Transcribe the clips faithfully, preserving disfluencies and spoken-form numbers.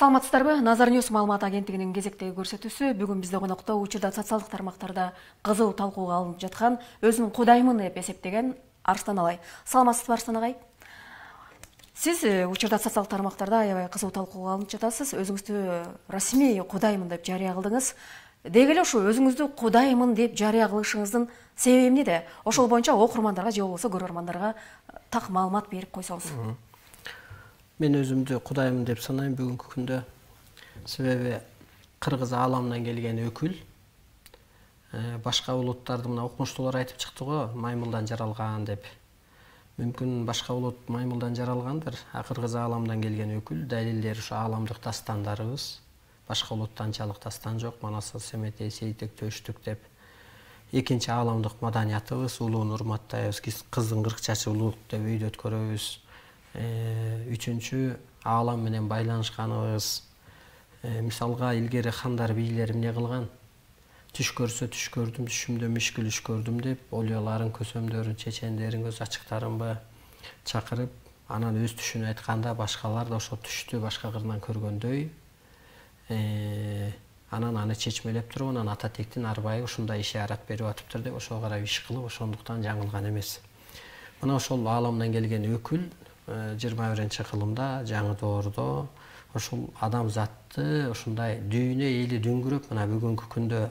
Саламатсыздарбы? Назар Ньюс маалымат агенттигинин кезектеги көрсөтүүсү бүгүн бизде конокто учурда социалдык тармактарда кызуу талкууга алынып жаткан өзүн кудаймын деп эсептеген Арстан Алай. Саламатсызбы Арстан агай? Сиз учурда социалдык тармактарда аябай кызуу талкууга алынып жатасыз. Өзүңүздү расмий кудаймын деп жарыя кылдыңыз. Деги эле ушу өзүңүздү кудаймын деп жарыя кылышыңыздын себеби эмнеде? Ошол боюнча окурмандарга же болбосо көрөрмандарга так маалымат берип койсоңуз. Мен өзүмдү кудаймын деп санайм бүгүнкү күндө. Себеби кыргыз ааламынан келген өкүл башка улуттарды мына окумуштуулар айтып чыкты го, маймылдан жаралган деп. Мүмкүн башка улут маймылдан жаралгандыр, а кыргыз ааламынан келген өкүл далилдери ушу ааламдык дастандарыбыз. Башка улутта анчалык дастан жок, Манас, Семетей, Сейтек, Төштүк деп. Экинчи ааламдык маданиятыбыз, улууну урматтайбыз, кыздын кырк чачы улуулук деп үйдө өткөрөбүз. Үчүнчү, аалам менен байланышканыбыз. Мисалга илгери хандар, бийлер эмне кылган? Түш көрсө түш көрдүм, түшүмдө мишкүл үш көрдүм деп олияларын, көсөмдөрүн, чечендерин, көз ачыктарын чакырып, анан өз түшүн айтканда башкалар да ошо түштү башка кырынан көргөндөй, анан аны чечмелеп туруп, анан ата тектин арбайы ушундай ишарат берип атыптыр деп ошого карап иш кылып, ошондуктан жаңылган эмес. Мына ошол ааламдан келген өкүл жыйырма биринчи кылымда, жаңы доордо ошол адамзатты ушундай дүйнө эли дүңгүрөп, мына бүгүнкү күндө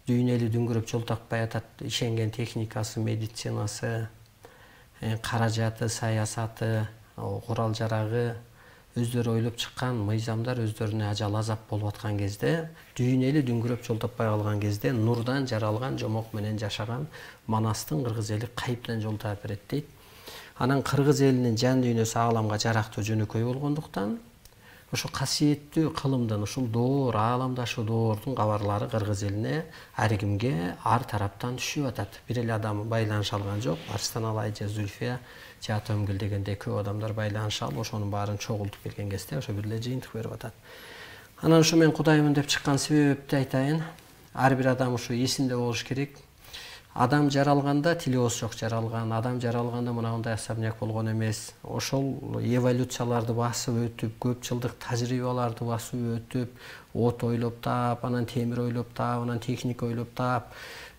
дүйнө эли дүңгүрөп жол таппай атат, ишенген техникасы, медицинасы, каражаты, саясаты, курал жарагы, өздөрү ойлоп чыккан мыйзамдар өздөрүнө ажал азап болуп аткан кезде, дүйнө эли дүңгүрөп жол таппай калган кезде нурдан жаралган, жомок менен жашаган Манастын кыргыз эли кайыптан жол таап берет дейт. Анан кыргыз элинин жан дүйнөсү ааламга жарактуу жөнөкөй болгондуктан ошо касиеттүү кылымдын, ушул доор, ааламдашы доордун кабарлары кыргыз элине ар кимге ар тараптан түшүп атат. Бир эле адам байланыша алган жок. Арстан Алай же Зүлфия же Атөмгүл дегендей көп адамдар байланыша алып, ошонун баарын чогултуп келген кезде ошо бир эле жыйынтык берип атат. Анан ушу мен кудаймын деп чыккан себепти айтайын. Ар бир адам ушу эсинде болуш керек. Адам жаралганда тили ооз жок жаралган, адам жаралганда мынандай особняк болгон эмес. Ошол эволюцияларды басып өтүп, көп жылдык тажрыйбаларды басып өтүп, от ойлоп таап, анан темир ойлоп таап, анан техника ойлоп таап,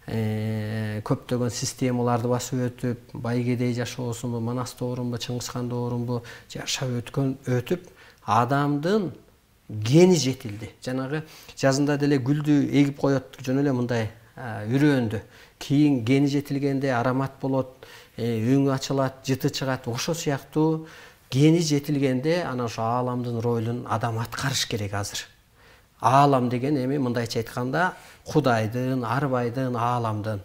көптөгөн системаларды басып өтүп, байгедей жашоосунбу, Манас доорунбу, Чыңгызхан доорунбу жашап өткөн өтүп, адамдын гени жетилди. Жанагы жазында деле гүлдү эгип коет, жөн эле мындай үрөөндү. Кийин гени жетилгенде аромат болот, өңү ачылат, жыты чыгат. Ошо сыяктуу гени жетилгенде анан ошо ааламдын ролун адам аткарыш керек азыр. Аалам деген эми мындайча айтканда Кудайдын, арбайдын, ааламдын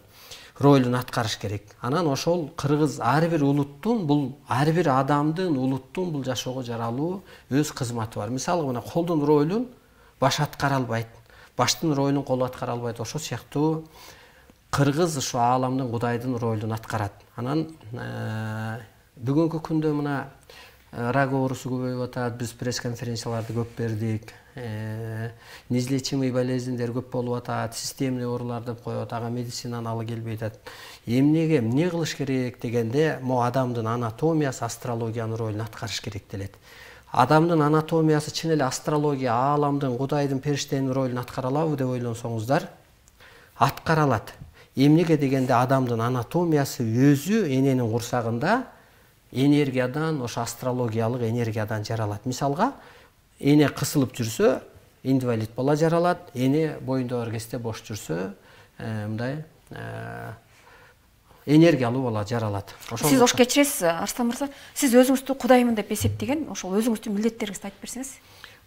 ролун аткарыш керек. Анан ошол кыргыз ар бир улуттун, бул ар бир адамдын, улуттун бул жашоого жаралуу өз кызматы бар. Мисалы мына колдун ролун баш аткара албайт, баштын ролун кол аткара албайт. Ошол сыяктуу кыргыз ушу ааламдын, Кудайдын ролун аткарат. Анан бүгүнкү күндө мына рак оорусу көбөйүп атат, биз пресс-конференцияларды көп бердик. Неизлечимый болезньдер көп болуп атат, системный оорулар деп коет, ага медицинанын алы келбей атат. Эмнеге, эмне кылыш керек дегенде, могу адамдын анатомиясы, астрологиянын ролун аткарыш керек делет. Адамдын анатомиясы чын эле астрология, ааламдын, Кудайдын, периштенин ролун аткара алабы деп ойлонсоңуздар, аткара алат. Эмнеге дегенде адамдын анатомиясы өзү эненин курсагында энергиядан, ошо астрологиялык энергиядан жаралат. Мисалга, эне кысылып жүрсө, инвалид бала жаралат, эне боюнда бар кезде бош жүрсө, мындай энергиялуу бала жаралат. Сиз ош кечиресиз, Арстан мырза, сиз өзүңүздү кудаймын деп эсептеген, ошол өзүңүздүн милдеттериңизди айтып берсеңиз.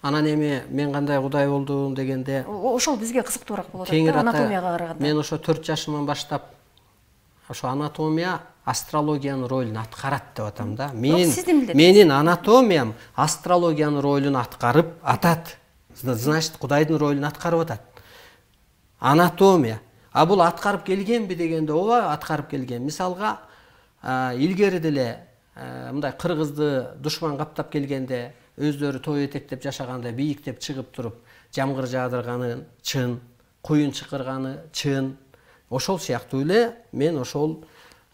Анан эми мен кандай кудай болдум дегенде, ошол бизге кызыктуураак болот да, анатомияга караганда. Мен ошо төрт жашымдан баштап ошо анатомия, астрологиянын ролун аткарат деп атам да. Менин анатомиям астрологиянын ролун аткарып атат. Значит, Кудайдын ролун аткарып атат. Анатомия. А бул аткарып келгенби дегенде, ооба, аткарып келген. Мисалга, илгери деле мындай кыргызды душман каптап келгенде, өздөрү той этектеп жашаганда бийиктеп чыгып туруп, жамгыр жаадырганы чын, куюн чыкырганы чын. Ошол сыяктуу эле мен ошол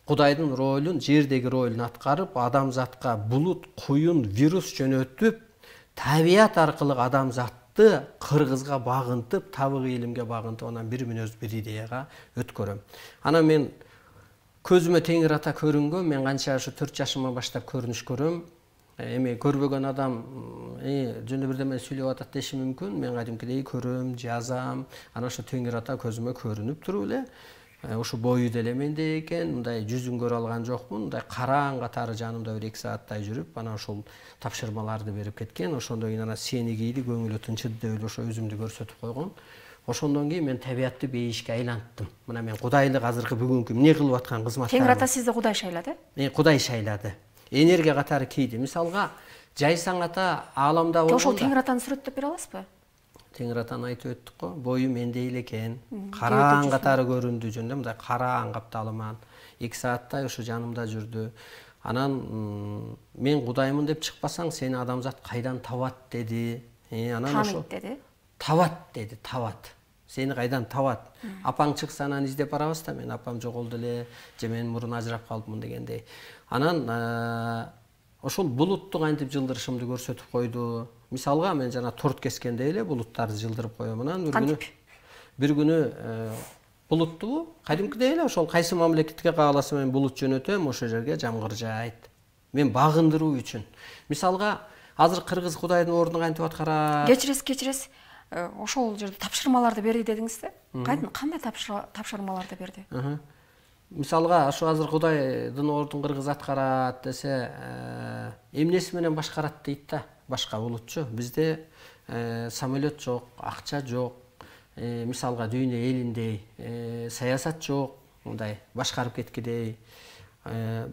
Кудайдын ролун, жердеги ролун аткарып, адамзатка булут, куюн, вирус жөнөтүп, табият аркылуу адамзатты кыргызга багынтып, табыгы илимге багынтып, анан бир мүнөз бир идеяга өткөрөм. Анан мен көзүмө Теңир ата көрүнгөн, мен канча ушу төрт жашыма баштап көрүнүш көрөм. Эми көрбөгөн адам жөнүндө бирдеме сүйлөп атат деши мүмкүн. Мен кадимкидей көрөм, жазам. Анан ошо Теңир ата көзүмө көрүнүп туруп эле, ушу бою деле менде экен, мындай жүзүн көрө алган жокмун, мындай караң катары жанымда бир эки сааттай жүрүп, анан ошол тапшырмаларды берип кеткен. Ошондон кийин анан сени кийди, көңүлү тынчыды деп эле ошо өзүмдү көрсөтүп койгон. Ошондон кийин мен табиятты бейишке айланттым. Мына мен кудайлык азыркы бүгүнкү эмне кылып аткан кызматтарым. Теңир ата сизди Кудай шайлады? Мен Кудай шайлады. Энергия катары кийди. Мисалга, жайсаң ата ааламда болгондо. Ошол Теңир атаны сүрөттөп бере аласызбы? Теңир атаны айтып өттүк го, бою мендей эле экен. Караң катары көрүндү жөнүндө, мындай караң капталыман. эки сааттай ушу жанымда жүрдү. Анан мен Кудаймын деп чыкпасаң, сени адамзат кайдан табат деди. Анан ошо деди. Табат деди, табат. Сени кайдан табат? Апаң чыкса анан издеп барабыз да, мен апам жоголду эле, же мен мурун ажырап калдымын дегендей. Анан ошол булутту кантип жылдырышымды көрсөтүп койду. Мисалга, мен жана торт кескендей эле булуттарды жылдырып коем. Анан бир күнү бир күнү булутту кадимкидей эле ошол кайсы мамлекетке кааласа мен булут жөнөтөм, ошол жерге жамгыр жаайт. Мен багындыруу үчүн. Мисалга, азыр кыргыз Кудайдын ордун кантип аткарат? Кечиресиз, кечиресиз. Ошол жерде тапшырмаларды берди дедиңиз да? Кандай тапшырмаларды берди? Мисалга, ошо азыр Кудайдын ордун кыргыз аткарат десе, эмнеси менен башкарат дейт да, башка булутчу. Бизде самолет жок, акча жок. Мисалга, дүйнө элиндей саясат жок, мындай башкарып кеткидей.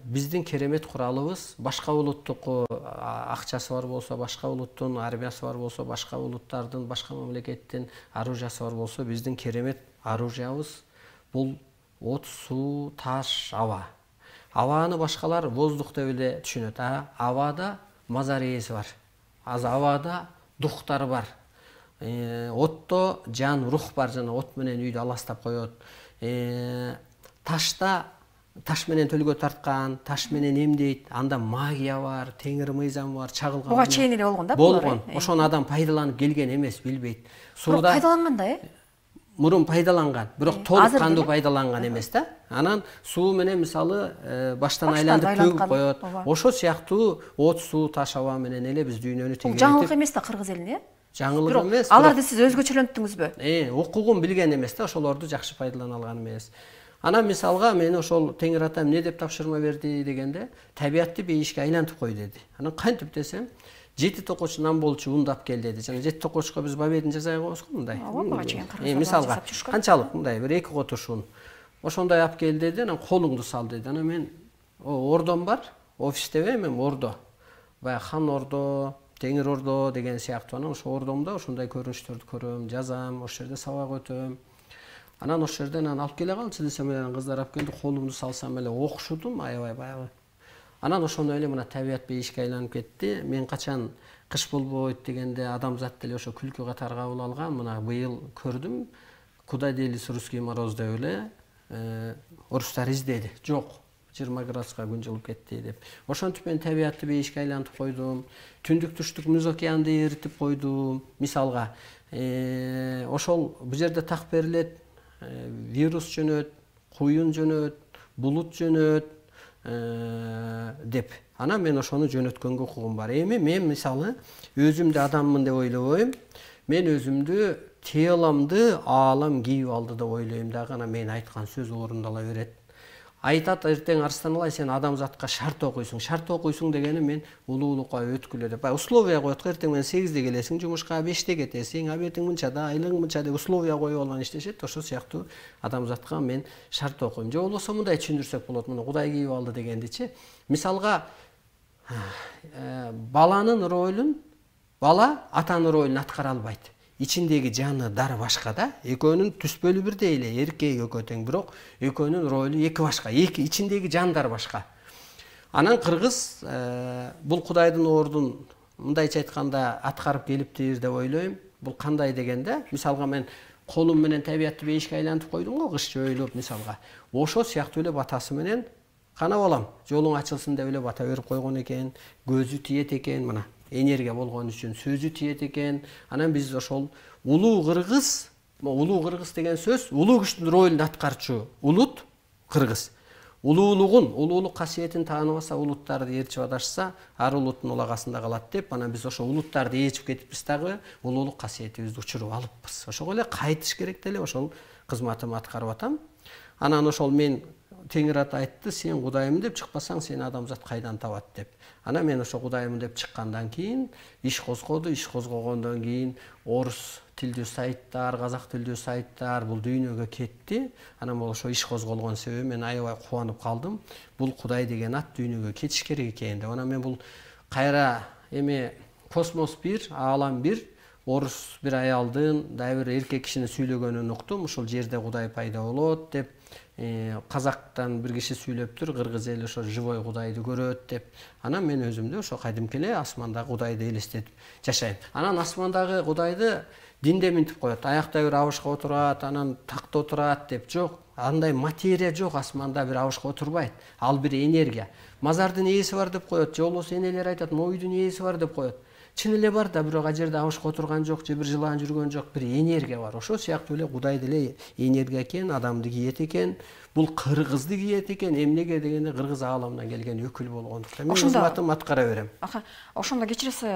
Биздин керемет куралыбыз башка улуттуку акчасы бар болсо, башка улуттун армиясы бар болсо, башка улуттардын, башка мамлекеттин оружиясы бар болсо, биздин керемет оружиябыз бул от, суу, таш, аба. Абаны башкалар воздух деп эле түшүнөт. А абада мазар ээси бар. Аз абада духтар бар. Отто жан, рух бар, жана от менен үйдү аластап коет. Ташта таш менен төлгө тарткан, таш менен эмдейт. Анда магия бар, теңир мыйзам бар, чагылган. Буга чейин эле болгон да? Болгон. Ошону адам пайдаланып келген эмес, билбейт. Сууда пайдаланган да, э? Мурун пайдаланган, бирок толук кандуу пайдаланган эмес да. Анан суу менен мисалы баштан айландырып төгүп коет. Ошо сыяктуу от, суу, таш, аба менен эле биз дүйнөнү тегеректип. Жаңылык эмес да кыргыз элине, э? Жаңылык эмес. Аларды сиз өзгөчөлөнттүңүзбү? Э, укугун билген эмес да, ошолорду жакшы пайдалана алган эмес. Анан мисалга мен ошол Теңир атам эмне деп тапшырма берди дегенде, табиятты бейишке айлантып кой деди. Анан кантип десем, жети токоч нан болчу ундап кел деди. Жана жети токочко биз бабедин жасай коебуз го мындай. Буга чейин кыргыздар мисалга канчалык мындай бир эки котуш ун. Ошондой алып кел деди, анан колуңду сал деди. Анан мен ордом бар, офистебе мен ордо. Баягы хан ордо, Теңир ордо деген сыяктуу. Анан ошо ордомдо ошондой көрүнүштөрдү көрөм, жазам, ошол жерде сабак өтөм. Анан ошол жерден анан алып келе калчы десем эле кыздар алып келди, колумду салсам эле окшудум, аябай баягы. Анан ошондой эле мына табият бейишке айланып кетти. Мен качан кыш болбойт дегенде адамзат деле ошо күлкү катары кабыл алган. Мына быйыл көрдүм, куда делись русский мороз деп эле орустар издеди. Жок, жыйырма градуска күн жылып кетти деп. Ошентип мен табиятты бейишке айлантып койдум. Түндүк түштүк муз океанды эритип койдум. Мисалга, ошол бу жерде так берилет, вирус жөнөт, куюн жөнөт, булут жөнөт деп. Анан мен ошону жөнөткөнгө укугум бар. Эми мен мисалы өзүмдү адаммын деп ойлобойм. Мен өзүмдү теломду аалам кийип алды деп ойлойм дагы. Анан мен айткан сөз орундала берет. Айтат эртең Арстан Алай сен адамзатка шарт окуйсуң. Шарт окуйсуң дегени мен улуулукка өткүлө деп. Бай условия коет го, эртең менен сегизде келесиң, жумушка беште кетесиң, абертиң мынчада, айлыгың мынча деп условия коюп алган иштешет. Ошол сыяктуу адамзатка мен шарт окуйм. Же болбосо мындай түшүндүрсөк болот, муну Кудай кийип алды дегендичи. Мисалга баланын ролун бала атанын ролун аткара албайт. Ичиндеги жаны дары башка да. Экөөнүн түспөлү бирдей эле, эркек экөө тең, бирок экөөнүн ролу эки башка. Эки ичиндеги жандар башка. Анан кыргыз бул Кудайдын ордун мындайча айтканда аткарып келиптир деп ойлойм. Бул кандай дегенде, мисалга мен колум менен табиятты бейишке айлантып койдум го, кыш жөйлөп мисалга. Ошо сыяктуу эле батасы менен кана балам, жолуң ачылсын деп эле бата берип койгон экен, көзү тиет экен, мына. энергия болгон үчүн сөзү тиет экен. Анан биз ошол улуу кыргыз, улуу кыргыз деген сөз улуу күчтүн ролун аткарчу улут кыргыз. Улуулугун, улуулук касиетин тааныбаса, улуттарды ээрчип адашса, ар улуттун улагасында калат деп, анан биз ошо улуттарды ээрчип кетипбиз дагы, улуулук касиетибизди учуруп алыппыз. Ошого эле кайтыш керек деле ошол кызматымды аткарып атам. Анан ошол мен Теңир Ата айтты, сен Кудайым деп чыкпасаң, сени адамзат кайдан табат деп. Анан мен ошо Кудайым деп чыккандан кийин иш козгоду, иш козгогондон кийин орус тилдүү сайттар, казак тилдүү сайттар бул дүйнөгө кетти. Анан бул ошо иш козголгон себеби мен аябай кубанып калдым. Бул Кудай деген ат дүйнөгө кетиш керек экен деп. Анан мен бул кайра эме космос бир, аалам бир, орус бир аялдын, дагы бир эркек кишинин сүйлөгөнүн уктум. Ушул жерде Кудай пайда болот деп. Казактан бир киши сүйлөптүр, кыргыз эли ошо живой Кудайды көрөт деп. Анан мен өзүмдү ошо кадимки эле асмандагы Кудайды элестетип жашайм. Анан асмандагы Кудайды динде минтип коет. Аякта бир абышка отурат, анан такта отурат деп. Жок, андай материя жок, асманда бир абышка отурбайт. Ал бир энергия. Мазардын ээси бар деп коет, же болбосо энелер айтат, моюдун ээси бар деп коет. Чын эле бар да, бирок ал жерде абышка отурган жок, же бир жылаан жүргөн жок, бир энергия бар. Ошол сыяктуу эле Кудай деле энергия экен, адамды кийет экен. Бул кыргызды кийет экен. Эмнеге дегенде кыргыз ааламынан келген өкүл болгондуктан мен кызматымды аткара берем. Аха, ошондо кечиресиз,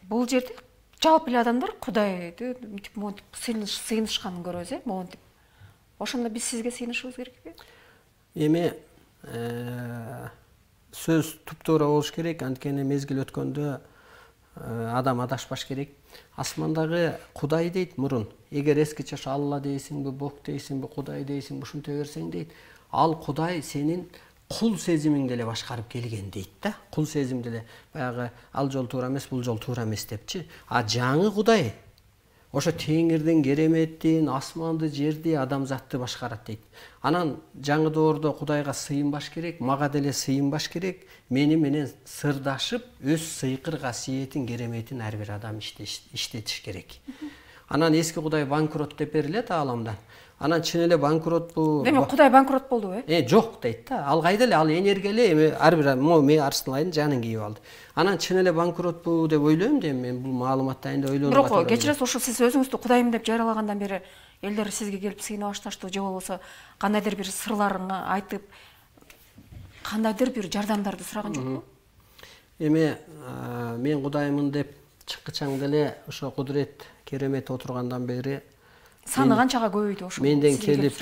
бул жерде жалпы эле адамдар Кудайды мынтип монтип сыйынышканын көрөбүз, э, монтип. Ошондо биз сизге сыйынышыбыз керекпи? Эми сөз туп-туура болуш керек, анткени мезгил өткөндө адам адашпаш керек. Асмандагы Кудай дейт мурун. Эгер эскиче ошо Алла дейсиңби, Бог дейсиңби, Кудай дейсиңби, ушинте берсең дейт. Ал Кудай сенин кул сезимиңди эле башкарып келген дейт да. Кул сезимди эле баягы ал жол туура эмес, бул жол туура эмес депчи. А жаңы Кудай ошо теңирдин кереметин, асманды, жерди, адамзатты башкарат дейт. Анан жаңы доордо Кудайга сыйынбаш керек, мага деле сыйынбаш керек. Мени менен сырдашып, өз сыйкыр касиетин, кереметин ар бир адам иштетиш керек. Анан эски Кудай банкрот деп берилет ааламдан. Анан чын эле банкротпу? Демек Кудай банкрот болдубу, э? Э, жок дейт да. Ал кайда эле, ал энергия эле, эми ар бир мо мен Арсылайдын жанын кийип алды. Анан чын эле банкротпу деп ойлойм да, мен бул маалымат дайында ойлонуп атам. Бирок кечиресиз, ошо сиз өзүңүздү Кудайым деп жарыялагандан бери элдер сизге келип сыйына башташтыбы, же болбосо кандайдыр бир сырларын айтып, кандайдыр бир жардамдарды сураган жокпу? Эми мен Кудаймын деп чыккычаң деле ошо кудурет, керемет отургандан бери саны канчага көбөйдү ошо менден келип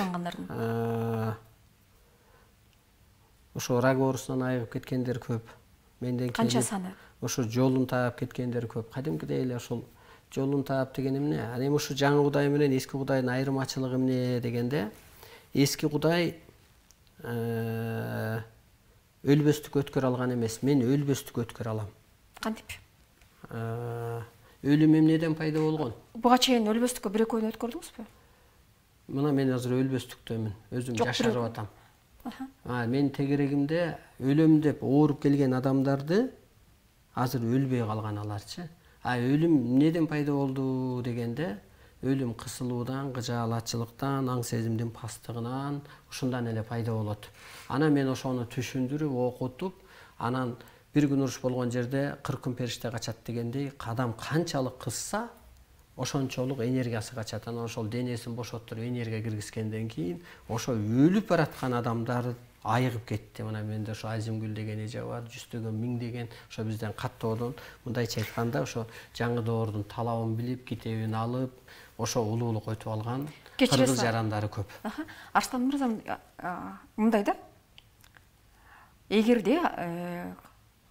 ошо рак оорусунан айыгып кеткендер көп. Менден канча саны? Ошо жолун таап кеткендер көп. Кадимкидей эле ошол жолун таап деген эмне? Ал эми ушу жаңы Кудай менен эски Кудайдын айырмачылыгы эмне дегенде, эски Кудай өлбөстүккө өткөрө алган эмес, мен өлбөстүккө өткөрө алам. Кантип? Өлүм эмнеден пайда болгон? Буга чейин өлбөстүккө бир экөөнү өткөрдүңүзбү? Мына мен азыр өлбөстүктөмүн, өзүм жашарып атам. А мен тегерегимде өлөм деп ооруп келген адамдарды азыр өлбөй калган аларчы. А өлүм эмнеден пайда болду дегенде, өлүм кысылуудан, кыжаалатчылыктан, аң сезимдин пастыгынан, ушундан эле пайда болот. Анан мен ошону түшүндүрүп, окутуп, анан бир күн уруш болгон жерде кырк күн периште качат дегендей, адам канчалык кысса, ошончолук энергиясы качат. Анан ошол денесин бошоттуруп энергия киргизгенден кийин, ошо өлүп бараткан адамдар айыгып кетти. Мына менде ошо Азимгүл деген эже бар, жүздөгөн, миңдеген, ошо бизден каттоодон, мындайча айтканда, ошо жаңы доордун талабын билип, китебин алып, ошо улуулук өтүп алган кыргыз жарандары көп. Арстан мырза, мындай да, эгерде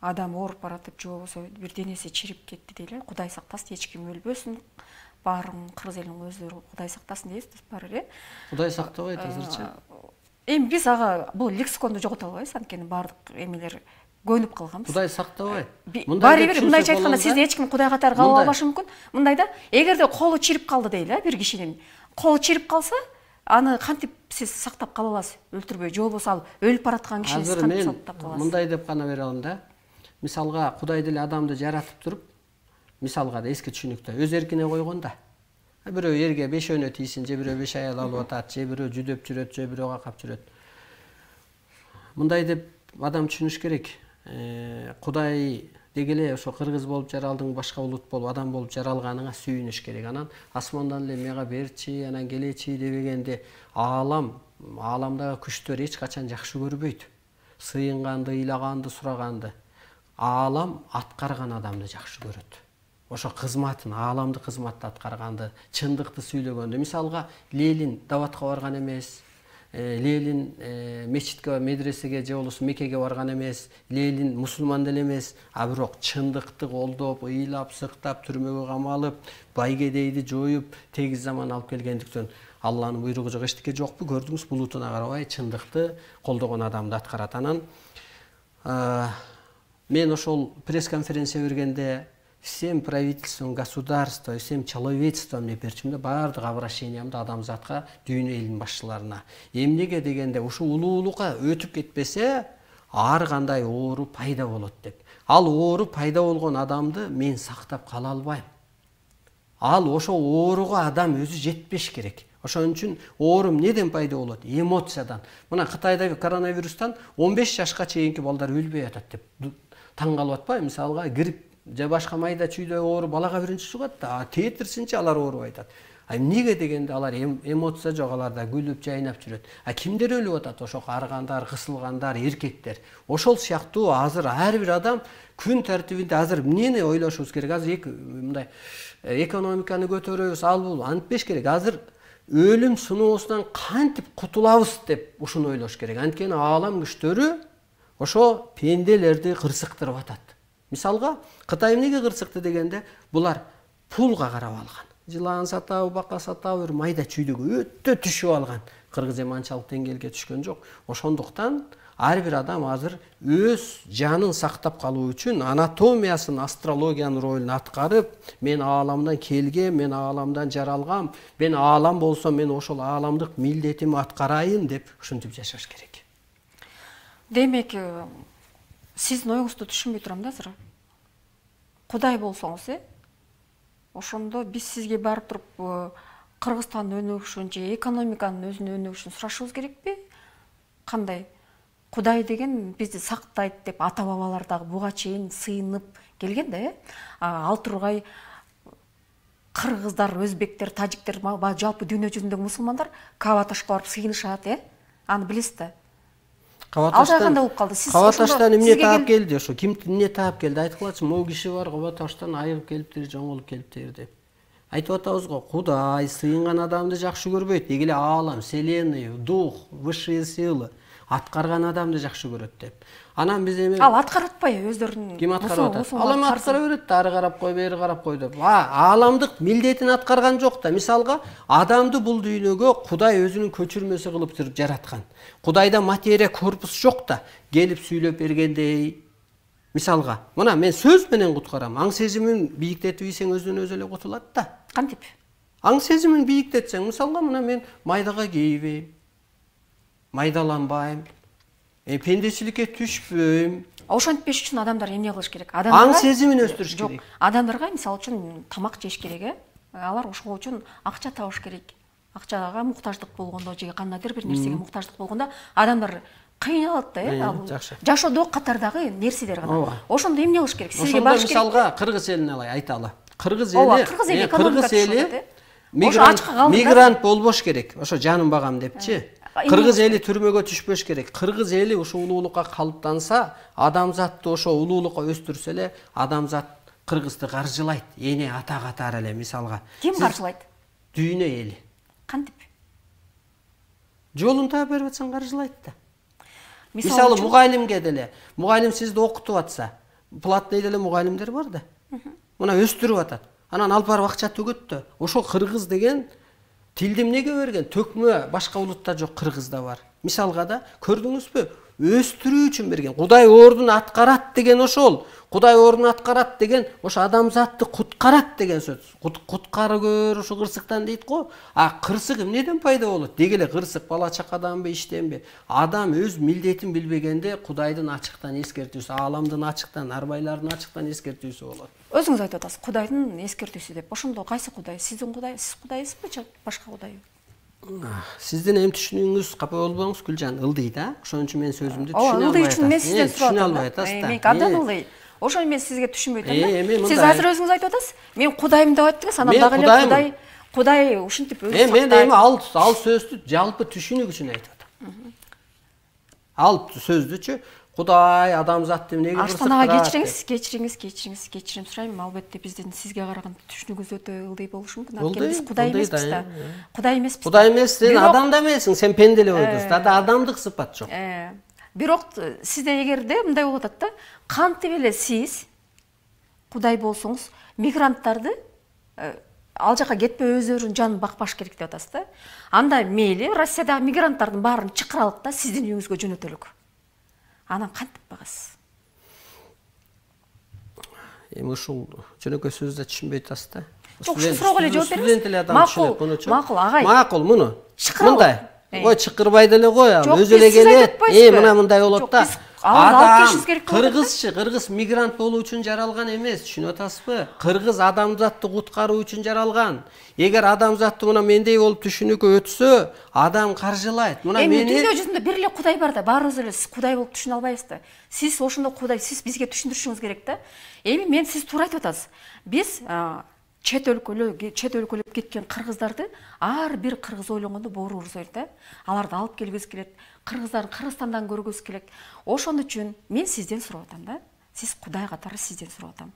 адам ооруп баратып, же болбосо бир денеси чирип кетти дейле, Кудай сактасын, эч ким өлбөсүн, баарын кыргыз элинин өздөрү Кудай сактасын дейбиз, баары, э? Кудай сактабайт азырча. Эми биз ага бул лексиконду жогото албайбыз, анткени баардык эмелер көнүп калганбыз. Кудай сактабайт. Баары бир мындайча айтканда, сизди эч ким Кудай катары кабыл албашы мүмкүн. Мындай да, эгерде колу чирип калды дейле, бир кишинин колу чирип калса, аны кантип сиз сактап кала аласыз, өлтүрбөй, же болбосо ал өлүп бараткан кишини сиз кантип сактап кала аласыз? Мындай деп гана бере алам да. Мисалга Кудай деле адамды жаратып туруп, мисалга да эски түшүнүктө өз эркине койгон да. Бирөө эрге бешөөнө тийсин, же бирөө беш аял алып атат, же бирөө жүдөп жүрөт, же бирөө какап жүрөт. Мындай деп адам түшүнүш керек. Кудай деги эле ошо кыргыз болуп жаралдың, башка улут болуп адам болуп жаралганыңа сүйүнүш керек. Анан асмандан эле мага берчи, анан келечи дебегенде аалам, ааламдагы күчтөр эч качан жакшы көрбөйт. Сыйынганды, ыйлаганды, сураганды. Аалам аткарган адамды жакшы көрөт. Ошо кызматын, ааламды кызматты аткарганды, чындыкты сүйлөгөндү. Мисалга, Ленин даватка барган эмес, Ленин мечитке, медресеге же болбосо Меккеге барган эмес, Ленин мусулман деле эмес, а бирок чындыкты колдоп, ыйлап, сыктап, түрмөгө камалып, байгедейди жоюп, тегиз заман алып келгендиктен Алланын буйругу жок, эчтеке жокпу, көрдүңүз, булутуна карабай чындыкты колдогон адамды аткарат. Анан мен ошол пресс-конференция бергенде всем правительствам государства, всем человечествам деп берчим да, баардык обращениямды адамзатка, дүйнө элинин башчыларына. Эмнеге дегенде, ушу улуулукка өтүп кетпесе, ар кандай оору пайда болот деп. Ал оору пайда болгон адамды мен сактап кала албайм. Ал ошо ооруга адам өзү жетпеш керек. Ошон үчүн оору неден пайда болот? Эмоциядан. Мына Кытайда коронавирустан он беш жашка чейинки балдар өлбөй атат деп таң калып атпайбы? Мисалга, грипп же башка майда чүйдө оору балага биринчи чыгат да, тетирсинчи алар оорубай атат. А эмнеге дегенде алар эмоция жок, аларда күлүп жайнап жүрөт. А кимдер өлүп атат? Ошо карыгандар, кысылгандар, эркектер. Ошол сыяктуу азыр ар бир адам күн тартибинде азыр эмнени ойлошубуз керек? Азыр эки мындай экономиканы көтөрөбүз, ал бул антпеш керек. Азыр өлүм сыноосунан кантип кутулабыз деп ушуну ойлош керек. Анткени аалам күчтөрү ошо пенделерди кырсыктырып атат. Мисалга, Кытай эмнеге кырсыкты дегенде, булар пулга карап алган. Жылан сатабы, бака сатабы, бир майда чүйдөгө өтө түшүп алган. Кыргыз эми анчалык деңгээлге түшкөн жок. Ошондуктан ар бир адам азыр өз жанын сактап калуу үчүн анатомиясын, астрологиянын ролун аткарып, мен ааламдан келгем, мен ааламдан жаралгам, мен аалам болсом, мен ошол ааламдык милдетимди аткарайын деп ушинтип жашаш керек. Демек, сиздин оюңузду түшүнбөй турам да азыр. Кудай болсоңуз, э? Ошондо биз сизге барып туруп Кыргызстандын өнүгүшүн же экономиканын өзүнүн өнүгүшүн сурашыбыз керекпи? Кандай? Кудай деген бизди сактайт деп ата бабалар дагы буга чейин сыйынып келген да, э? Ал тургай кыргыздар, өзбектер, тажиктер, жалпы дүйнө жүзүндөгү мусулмандар Каба ташка барып сыйынышат, э? Аны билесиз да? Кабаташтан болуп калды. Сиз Кабаташтан эмне таап келди ошо? Ким эмне таап келди? Айтып калачы, могу киши бар, Кабаташтан айыгып келиптир, жоңолуп келиптир деп. Айтып атабыз го, Кудай сыйынган адамды жакшы көрбөйт. Деги эле аалам, вселенная, дух, высшие силы аткарган адамды жакшы көрөт деп. Анан биз эми ал аткарып атпайбы өздөрүнүн? Ким аткарып атат? Ал эми аткара берет да, ары карап кой, бери карап кой деп. А, ааламдык милдетин аткарган жок да. Мисалга, адамды бул дүйнөгө Кудай өзүнүн көчүрмөсү кылып туруп жараткан. Кудайда материя корпус жок да, келип сүйлөп бергендей. Мисалга, мына мен сөз менен куткарам. Аң сезимин бийиктетип ийсең өзүнөн өзү эле кутулат да. Кантип? Аң сезимин бийиктетсең, мисалга, мына мен майдага кейбейм, майдаланбайм, пендечиликке түшпөйм. Ошентпеш үчүн адамдар эмне кылыш керек? Аң сезимин өстүрүш керек. Адамдарга мисалы үчүн тамак жеш керек, э? Алар ошол үчүн акча табыш керек. Акчага муктаждык болгондо же кандайдыр бир нерсеге муктаждык болгондо адамдар кыйналат да, э? Жашоодо катардагы нерселер гана. Ошондо эмне кылыш керек? Сизге баш керек. Мисалга Кыргыз элин алай, айталы. Кыргыз эли, Кыргыз эли мигрант болбош керек. Ошо жанын багам депчи. Кыргыз эли түрмөгө түшпөш керек. Кыргыз эли ошо улуулукка калыптанса, адамзатты ошо улуулукка өстүрсө эле, адамзат Кыргызды каржылайт. Эне ата катары эле мисалга. Ким каржылайт? Дүйнө эли. Кантип? Жолун таап берип атсаң каржылайт да. Мисалы мугалимге деле, мугалим сизди окутуп атса, платный деле мугалимдер бар да. Мына өстүрүп атат. Анан алып барып акча төгөт да. Ошо кыргыз деген тилди эмнеге берген? Төкмө башка улутта жок, кыргызда бар. Мисалга да, көрдүңүзбү? Өстүрүү үчүн берген. Кудай ордун аткарат деген ошол. Кудай ордун аткарат деген ошо адамзатты куткарат деген сөз. Куткарып көр ошо кырсыктан дейт го. А кырсык эмнеден пайда болот? Деги эле кырсык бала чакаданбы, иштенби? Адам өз милдетин билбегенде Кудайдын ачыктан эскертүүсү, ааламдын ачыктан, арбайлардын ачыктан эскертүүсү болот. Өзүңүз айтып атасыз, Кудайдын эскертүүсү деп. Ошондо кайсы Кудай? Сиздин Кудай, сиз Кудайсызбы же башка Кудай? Сиздин эми түшүнүүңүз капа болбоңуз Гүлжан, ылдый да. Ошон үчүн мен сөзүмдү түшүнө албай албай атасыз. Үчүн мен сизден сурап албай атасыз да. Мен абдан ылдый. Ошону мен сизге түшүнбөй атам да. Сиз мындай- азыр өзүңүз айтып атасыз. Мен Кудайым деп айттыңыз, анан Мен дагы эле Кудайым. Кудай, Кудай ушинтип өзү Эми мен сактайт. эми ал ал сөздү жалпы түшүнүк үчүн айтып атам. Ал сөздүчү Кудай адамзатты эмнеге Арстанага кечириңиз, кечириңиз, кечириңиз, кечирим сурайм. Албетте биздин сизге караганда түшүнүгүбүз өтө ылдый болушу мүмкүн. Анткени биз Кудай эмеспиз да. Кудай эмеспиз. Кудай эмес, сен адам да эмессиң, сен пенделеп ойдусуң. Да адамдык сыпат жок. Бирок сизде эгерде мындай болуп атат да, кантип эле сиз Кудай болсоңуз, мигранттарды ал жака кетпей өздөрүнүн жанын бакпаш керек деп атасыз да. Анда мейли Россиядагы мигранттардын баарын чакыралык да сиздин үйүңүзгө жөнөтөлүк. Анан кантип багасыз? Эми ушул жөнөкөй сөздү түшүнбөй атасыз да. Жок, ушул суроого эле жооп бериңиз. Макул, макул, агай. Макул, муну. Мындай. Ой, чыкырбай деле кой, өзү эле келет. Э, мына мындай болот да. Адам кыргызчы, кыргыз мигрант болуу үчүн жаралган эмес, түшүнүп атасызбы? Кыргыз адамзатты куткаруу үчүн жаралган. Эгер адамзатты мына мендей болуп түшүнүүгө өтсө, адам каржылайт. Мына мени дүйнө жүзүндө бир эле Кудай бар да, баарыбыз эле Кудай болуп түшүнө албайбыз да. Сиз ошондо Кудай, сиз бизге түшүндүрүшүңүз керек да. Эми мен сиз туура айтып атасыз. Биз чет өлкөлө чет өлкөлөп кеткен кыргыздарды ар бир кыргыз ойлонгондо бооруубуз ойт да. Аларды алып келгибиз келет. Кыргыздарды Кыргызстандан көргүбүз келет. Ошон үчүн мен сизден сурап атам да. Сиз Кудай катары сизден сурап атам.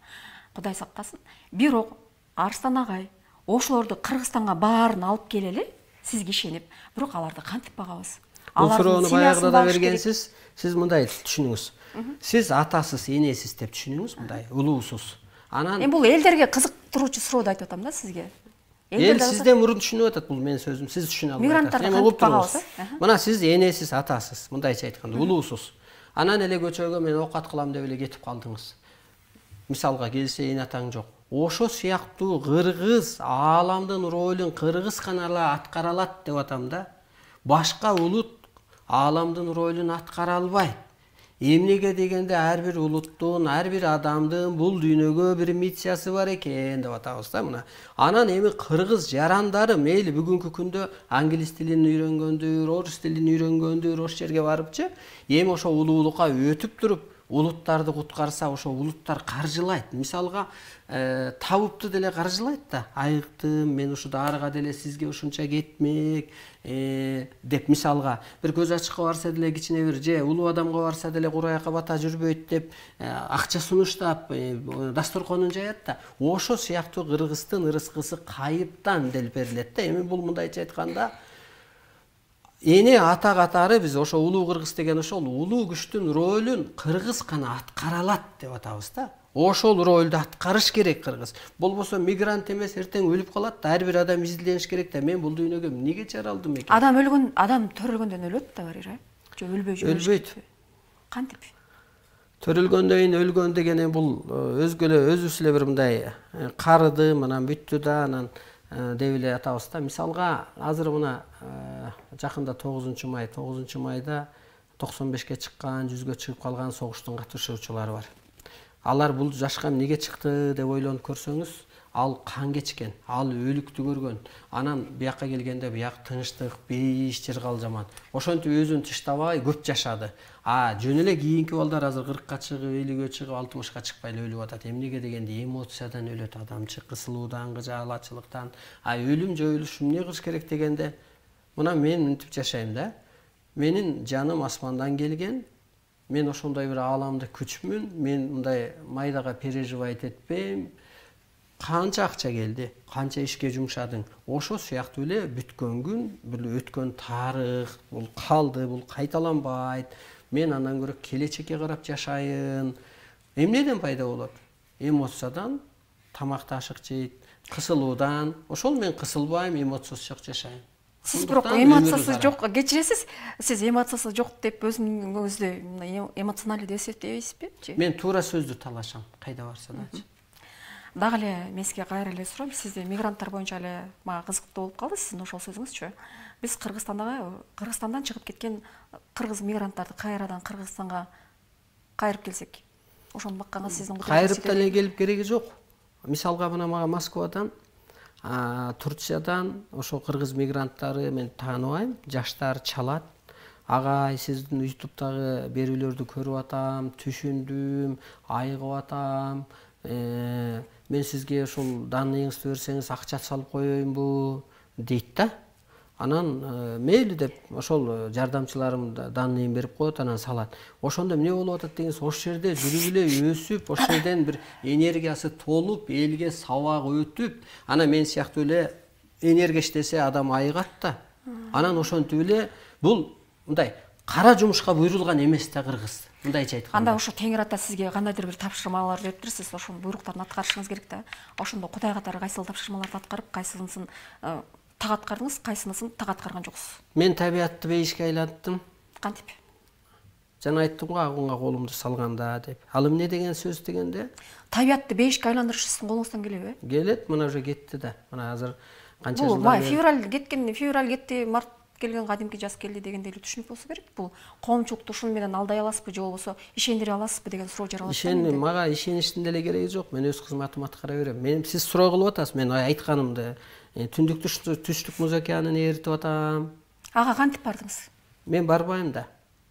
Кудай сактасын. Бирок Арстан агай ошолорду Кыргызстанга баарын алып келели, сизге ишенип, бирок аларды кантип багабыз? Бул суроону баягыда да бергенсиз, сиз мындай түшүнүңүз. Сиз атасыз, энесиз деп түшүнүңүз, мындай улуусуз. Анан Эми бул элдерге кызыктыруучу сурооду айтып атам да сизге. Эл сизден мурун түшүнүп атат, бул менин сөзүм. Сиз түшүнө албайсыз. Эми угуп турабыз. Мына сиз энесиз, атасыз, мындайча айтканда, улуусуз. Анан эле көчөгө мен окат кылам деп эле кетип калдыңыз. Мисалга келсе эне атаң жок. Ошо сыяктуу кыргыз ааламдын ролун кыргыз гана эле аткара алат деп атам да. Башка улут ааламдын ролун аткара албайт. Эмнеге дегенде ар бир улуттун, ар бир адамдын бул дүйнөгө бир миссиясы бар экен деп атабыз да мына. Анан эми кыргыз жарандары мейли бүгүнкү күндө англис тилин үйрөнгөндүр, орус тилин үйрөнгөндүр, ошол жерге барыпчы, эми ошо улуулукка өтүп туруп улуттарды куткарса, ошо улуттар каржылайт. Мисалга, табыпты деле каржылайт да. Айыктым, мен ушу дарыга деле сизге ушунча кетмек деп мисалга бир көз ачыкка барса деле кичине бир же улуу адамга барса деле кураяка бата жүрбөйт деп акча сунуштап дасторконун жаят да. Ошо сыяктуу кыргыздын ырыскысы кайыптан делип берилет да. Эми бул мындайча айтканда эне ата катары биз ошо улуу кыргыз деген ошол улуу күчтүн ролун кыргыз гана аткара алат деп атабыз да. Ошол ролду аткарыш керек кыргыз. Болбосо мигрант эмес, эртең өлүп калат да. Ар бир адам изилдениш керек да. Мен бул дүйнөгө эмнеге жаралдым экен? Адам өлгөн, адам төрөлгөндөн өлөт да барыра. Же өлбөй жүрөт. Өлбөйт. Кантип? Төрөлгөндөн кийин өлгөн деген бул өзгөлө өзүбүз эле бир мындай карыдым, анан бүттү да, анан деп эле атабыз да. Мисалга, азыр мына жакында тогузунчу май, тогузунчу майда токсон бешке чыккан, жүзгө чыгып калган согуштун катышуучулары бар. Алар бул жашка эмнеге чыкты деп ойлонуп көрсөңүз, ал кан кечкен, ал өлүктү көргөн. Анан бияка келгенде бияк тынчтык, бейиш жер кал жаман. Ошентип өзүн тыштабай көп жашады. А жөн эле кийинки балдар азыр кыркка чыгып, элүүгө чыгып, алтымышка чыкпай эле өлүп атат. Эмнеге дегенде эмоциядан өлөт адамчы, кысылуудан, кыжаалачылыктан. А өлүм жоюлуш эмне кылыш керек дегенде, мына мен мынтип жашайм да. Менин жаным асмандан келген. Мен ошондой бир ааламда күчмүн. Мен мындай майдага переживать этпейм. Канча акча келди, канча ишке жумшадың. Ошо сыяктуу эле бүткөн күн, бул өткөн тарых, бул калды, бул кайталанбайт. Мен андан көрө келечекке карап жашайын. Эмнеден пайда болот? Эмоциядан, тамакты ашык жейт, кысылуудан. Ошол мен кысылбайм, эмоциясыз жашайм. Сиз бирок эмоциясы жок, кечиресиз, сиз эмоциясы жок деп өзүңүздү эмоционалдуу деп эсептейсизби? Мен туура сөздү талашам, кайда барса дачы. Дагы эле мен сизге кайра эле сурайм, сизде мигранттар боюнча эле мага кызыктуу болуп калды сиздин ошол сөзүңүзчү. Биз Кыргызстандагы Кыргызстандан чыгып кеткен кыргыз мигранттарды кайрадан Кыргызстанга кайрып келсек, ошону бакканга сиздин кайрып деле келип кереги жок. Мисалга мына мага Москвадан Турциядан ошо кыргыз мигранттары мен тааныбайм, жаштар чалат. Агай, сиздин ютубтагы берүүлөрдү көрүп атам, түшүндүм, айыгып атам. Мен сизге ошол данныйыңызды берсеңиз акча салып коеюнбу дейт да. Анан мейли деп ошол жардамчыларым данныйын берип коет, анан салат. Ошондо эмне болуп атат дегенсиз, ошол жерде жүрүп эле өсүп, ошол жерден бир энергиясы толуп, элге сабак өтүп, анан мен сыяктуу эле энергия иштесе адам айыгат да. Анан ошентип эле бул мындай кара жумушка буйрулган эмес да кыргыз. Мындайча айтканда. Анда ошо Теңир ата сизге кандайдыр бир тапшырмалар бериптир, сиз ошонун буйруктарын аткарышыңыз керек да. Ошондо Кудай катары кайсыл тапшырмаларды аткарып, кайсынысын так аткардыңыз, кайсынысын так аткарган жоксуз? Мен табиятты бейишке айлантым. Кантип? Жана айттым го, агунга колумду салганда деп. Ал эмне деген сөз дегенде? Табиятты бейишке айландырыш сиздин колуңуздан келеби? Келет, мына уже кетти да. Мына азыр канча жылдар. Бул май февраль кеткен, февраль кетти, март келген, кадимки жаз келди дегенде эле түшүнүп болсо керек. Бул коомчулукту ушуну менен алдай аласызбы, же болбосо ишендире аласызбы деген суроо жаралат. Ишен, мага ишеништин деле кереги жок. Мен өз кызматымды аткара берем. Мен сиз суроо кылып атасыз, мен айтканымды. Түндүк түштүк муз океанын ээритип атам. Ага кантип бардыңыз? Мен барбайм да.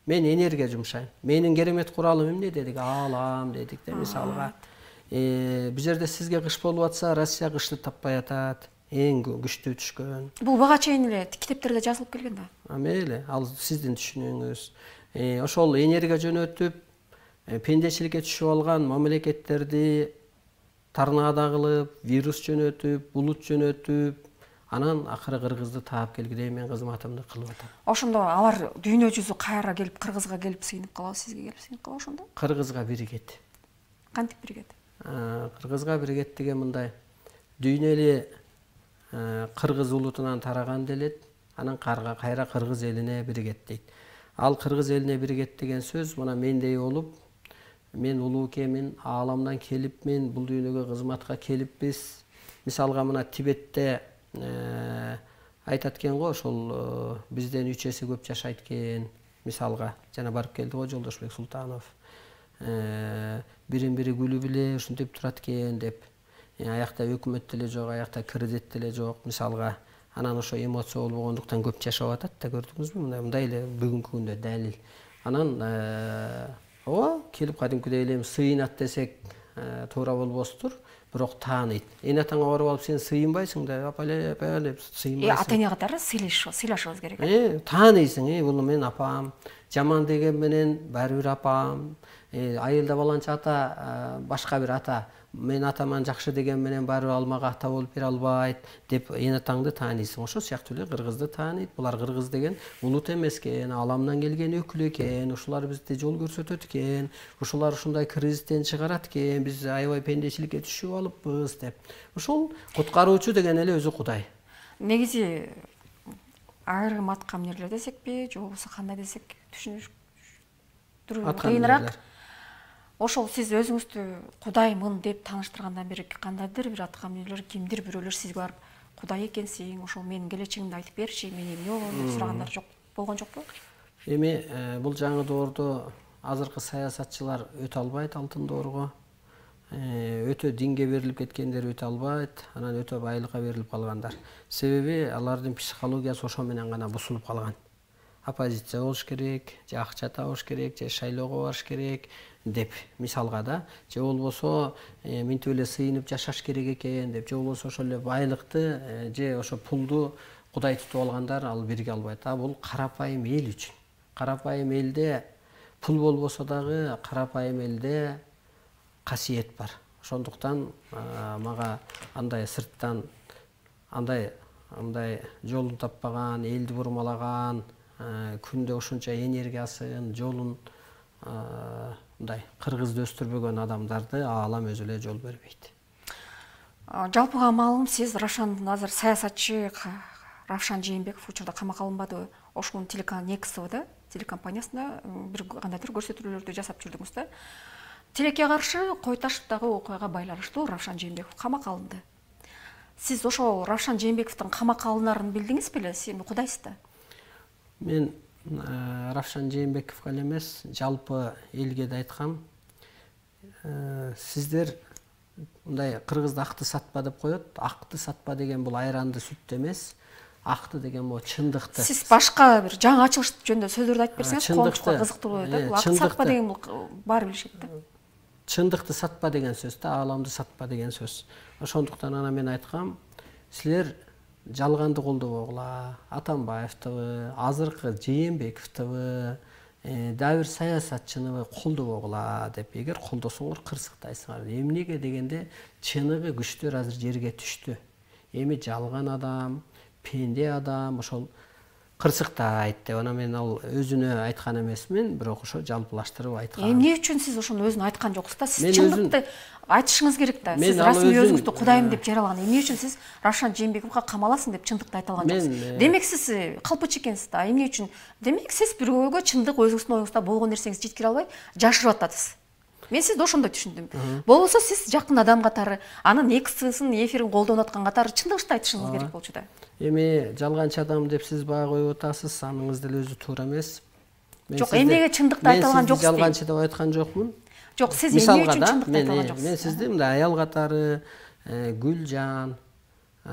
Мен энергия жумшайм. Менин керемет куралым эмне дедик? Аалам дедик да, мисалга. Бул жерде сизге кыш болуп атса, Россия кышты таппай атат. Эң күчтүү түшкөн. Бул бага чейин эле китептерде жазылып келген да. А мейли, ал сиздин түшүнүүңүз. Ошол энергия жөнөтүп, пендечиликке түшүп алган мамлекеттерди торнадо кылып, вирус жөнөтүп, булут жөнөтүп, анан акыры кыргызды таап келгидей мен кызматымды кылып атам. Ошондо алар дүйнө жүзү кайра келип, кыргызга келип сыйынып калабы, сизге келип сыйынып калабы ошондо? Кыргызга биригет. Кантип биригет? Кыргызга биригет деген мындай. Дүйнө эле кыргыз улутунан тараган делет, анан кайра кыргыз элине биригет дейт. Ал кыргыз элине биригет деген сөз мына мендей болуп, мен улуу экенмин, ааламдан келипмин, бул дүйнөгө кызматка келиппиз. Мисалга мына Тибетте айтат экен го, ошол бизден үч эсе көп жашайт экен. Мисалга жана барып келди го Жолдошбек Султанов. Бирин бири күлүп эле ушинтип турат экен деп. Аякта өкмөт деле жок, аякта кредит деле жок, мисалга. Анан ошо эмоция болбогондуктан көп жашап атат да, көрдүңүзбү? Мындай мындай эле бүгүнкү күндө далил. Анан ооба, келип кадимкидей эле сыйынат десек туура болбостур, бирок тааныйт. Эне атаңа барып алып сен сыйынбайсың да, апале, апале деп сыйынбайсың. Ата эне катары сыйлашыбыз керек. Э, тааныйсың, э, бул мен апам, жаман деген менен баары бир апам, айылда баланча ата, башка бир ата, мен атаман жакшы деген менен баары бир ал мага ата болуп бере албайт деп эне атаңды тааныйсың. Ошо сыяктуу эле кыргызды тааныйт. Булар кыргыз деген улут эмес экен, ааламдан келген өкүл экен, ушулар бизди жол көрсөтөт экен, ушулар ушундай кризистен чыгарат экен, биз аябай пендечиликке түшүп алыппыз деп. Ошол куткаруучу деген эле өзү Кудай. Негизи айрым аткамнерлер десекпи, же болбосо кандай десек, түшүнүштүрүү кыйыныраак. Ошол сиз өзүңүздү Кудаймын деп тааныштыргандан бери кандайдыр бир аткамнерлер, кимдир бирөөлөр сизге барып Кудай экенсиң, ошол менин келечегимди айтып берчи, мен эмне болом деп сурагандар жок болгон жокпу? Эми бул жаңы доордо азыркы саясатчылар өтө албайт алтын доорго. Өтө динге берилип кеткендер өтө албайт, анан өтө байлыкка берилип калгандар. Себеби алардын психологиясы ошо менен гана бузулуп калган. Оппозиция болуш керек, же акча табыш керек, же шайлоого барыш керек деп мисалга да, же болбосо минтип эле сыйынып жашаш керек экен деп, же болбосо ошол эле байлыкты же ошо пулду Кудай тутуп алгандар ал бирге албайт. А бул карапайым эл үчүн. Карапайым элде пул болбосо дагы карапайым элде касиет бар. Ошондуктан мага андай сырттан андай андай жолун таппаган, элди бурмалаган, күндө ушунча энергиясын, жолун мындай кыргызды өстүрбөгөн адамдарды аалам өзү эле жол бербейт. Жалпыга маалым, сиз Равшан азыр саясатчы Равшан Жээнбеков учурда камакка алынбадыбы? Ошонун телеканал Некс да, телекомпаниясында бир кандайдыр көрсөтүүлөрдү жасап жүрдүңүз да. Тилекке каршы Кой Таштагы окуяга байланыштуу Равшан Жээнбеков камакка алынды. Сиз ошол Равшан Жээнбековдун камакка алынарын билдиңиз беле? Сиз кудайсыз да? Мен Равшан Жээнбековго эле эмес, жалпы элге да айткам. Сиздер мындай кыргызда акты сатпа деп коет. Акты сатпа деген бул айранды сүттү эмес. Акты деген бул чындыкты. Сиз башка бир жаңы ачылыш жөнүндө сөздөрдү айтып берсеңиз коомчулукка кызыктуу болот да. Бул акты сатпа деген бул баары билишет да. Чындыкты сатпа деген сөз да, ааламды сатпа деген сөз. Ошондуктан ана мен айткам, силер жалганды колдобогула, Атамбаевдибы, азыркы Жээнбековдубы, дагы бир саясатчыныбы колдобогула деп, эгер колдосоңор кырсыктайсыңар. Эмнеге дегенде, чыныгы күчтөр азыр жерге түштү. Эми жалган адам, пенде адам ошол кырсыктайт деп, ана мен ал өзүнө айткан эмесмин, бирок ошо жалпылаштырып айткан. Эмне үчүн сиз ошону өзүнө айткан жоксуз да? Сиз чындыкты айтышыңыз керек да. Сиз расмий өзүңүздү Кудайым деп жаралаган. Эмне үчүн сиз Равшан Жээнбековго камаласың деп чындыкты айта алган жоксуз? Демек сиз калпыч экенсиз да. Эмне үчүн? Демек сиз бирөөгө чындык өзүңүздүн оюңузда болгон нерсеңизди жеткире албай жашырып атасыз. Мен сизди ошондой түшүндүм. Болбосо сиз жакын адам катары, анын эксин, эфирин колдонуп аткан катары чындыкты айтышыңыз керек болчу да. Эми жалганчы адам деп сиз баа коюп атасыз, аныңыз деле өзү туура эмес. Жок, эмнеге чындыкты айта алган жоксуз? Мен жалганчы деп айткан жокмун. Жок, сиз эмне үчүн чындыкты айта алган жоксуз? Мен сизди мындай аял катары Гүлжан,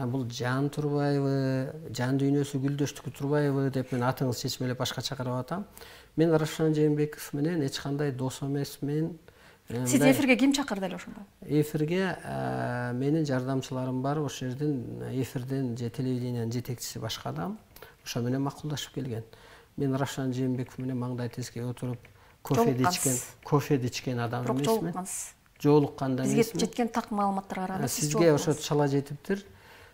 бул Жан Турбаева, жан дүйнөсү Гүлдөштүкү Турбаева деп мен атыңызды чечмелеп башкача карап атам. Мен Равшан Жээнбеков менен эч кандай дос эмесмин. Сиз эфирге ким чакырды эле ошондо? Эфирге менин жардамчыларым бар, ошол жерден эфирден же телевидениянын жетекчиси башка адам. Ошо менен макулдашып келген. Мен Равшан Жээнбеков менен маңдай тескей отуруп кофе ичкен, кофе ичкен адам эмесмин. Бирок жолуккансыз. Жолукканда эмесмин. Бизге жеткен так маалыматтарга караганда сиз сизге ошо чала жетиптир.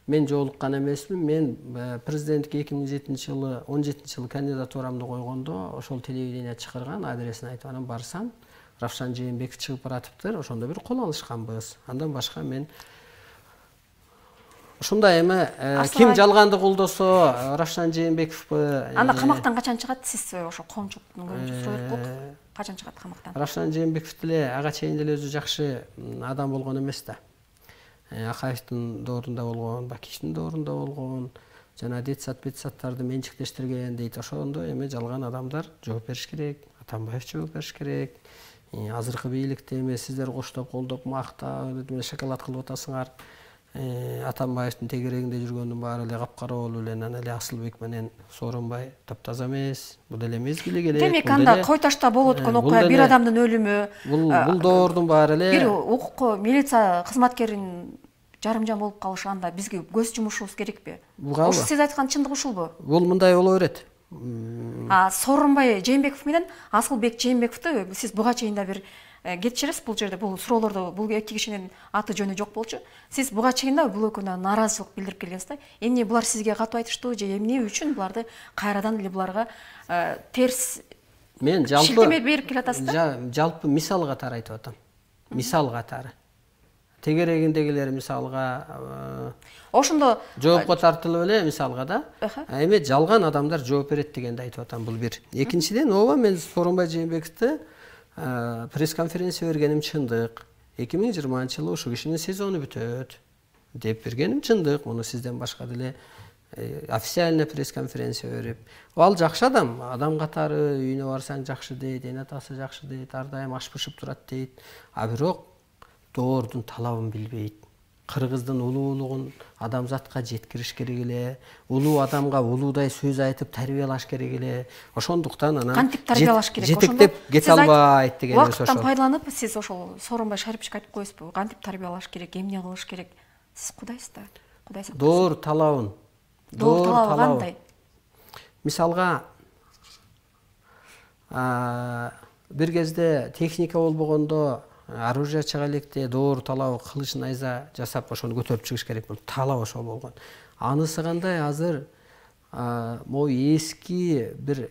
Мен жолуккан эмесмин. Мен президенттикке эки миң жетинчи жылы, он жетинчи жылы кандидатурамды койгондо ошол телевидение чакырган, адресин айтып анан барсам, Равшан Жээнбеков чыгып баратыптыр. Ошондо бир кол алышканбыз. Андан башка мен ушундай эми ким жалганды колдосо Равшан Жээнбековбу. Анда камактан качан чыгат? Сиз ошо коомчулуктун көбүнчө сурайт болуп, качан чыгат камактан? Равшан Жээнбеков деле ага чейин деле өзү жакшы адам болгон эмес да. Акаевдин доорунда болгон, Бакиевдин доорунда болгон, жана детсад бетсадтарды менчиктештирген дейт. Ошондо эми жалган адамдар жооп бериш керек, Атамбаев жооп бериш керек. Азыркы бийликти эми сиздер коштоп, колдоп, мактап, шоколад кылып атасыңар. Атамбаевдин тегерегинде жүргөндүн баары эле капкара болуп эле, анан эле Асылбек менен Сооронбай таптаза эмес. Бул деле мезгили керек. Демек анда Кой Ташта болуп өткөн окуя, бир адамдын өлүмү, бул доордун баары эле бир укук милиция кызматкеринин жарымжан болуп калышы, анда бизге көз жумушубуз керекпи? Ошо сиз айткан чындык ушулбу? Бул мындай боло берет. А Сооронбай Жээнбеков менен Асылбек Жээнбековду сиз буга чейин да бир кетчиресиз бул жерде, бул суроолордо бул эки кишинин аты жөнү жок болчу. Сиз буга чейин да бул экөөнө нааразычылык билдирип келгенсиз да. Эмне булар сизге катуу айтыштуу же эмне үчүн буларды кайрадан эле буларга терс мен жалпы шилтеме берип келатасыз да? Жалпы мисал катары айтып атам. Мисал катары. Тегерегиндегилер мисалга ошондо жоопко тартылып эле мисалга да. Эми жалган адамдар жооп берет дегенди айтып атам, бул бир. Экинчиден, ооба мен Сооронбай Жээнбековду пресс-конференция бергеним чындык. эки миң жыйырманчы жылы ушул кишинин сезону бүтөт деп бергеним чындык. Муну сизден башка деле официальный пресс-конференция берип. Ал жакшы адам, адам катары үйүнө барсаң жакшы дейт, эне атасы жакшы дейт, ар дайым аш бышып турат дейт. А бирок доордун талабын билбейт. Кыргыздын улуулугун адамзатка жеткириш керек эле, улуу адамга улуудай сөз айтып тарбиялаш керек эле. Ошондуктан анан кантип тарбиялаш керек? Жетектеп кете албайт деген сөз ошол. Убакыттан пайдаланып сиз ошол Сооронбай Шариповичке айтып коесузбу? Кантип тарбиялаш керек, эмне кылыш керек? Сиз кудайсыз да. Кудай сактасын. Доор талабын. Доор талабы кандай? Мисалга бир кезде техника болбогондо оружие чыга электе доор талабы кылыч найза жасап ошону көтөрүп чыгыш керек болду. Талап ошол болгон. Анысы кандай азыр могу эски бир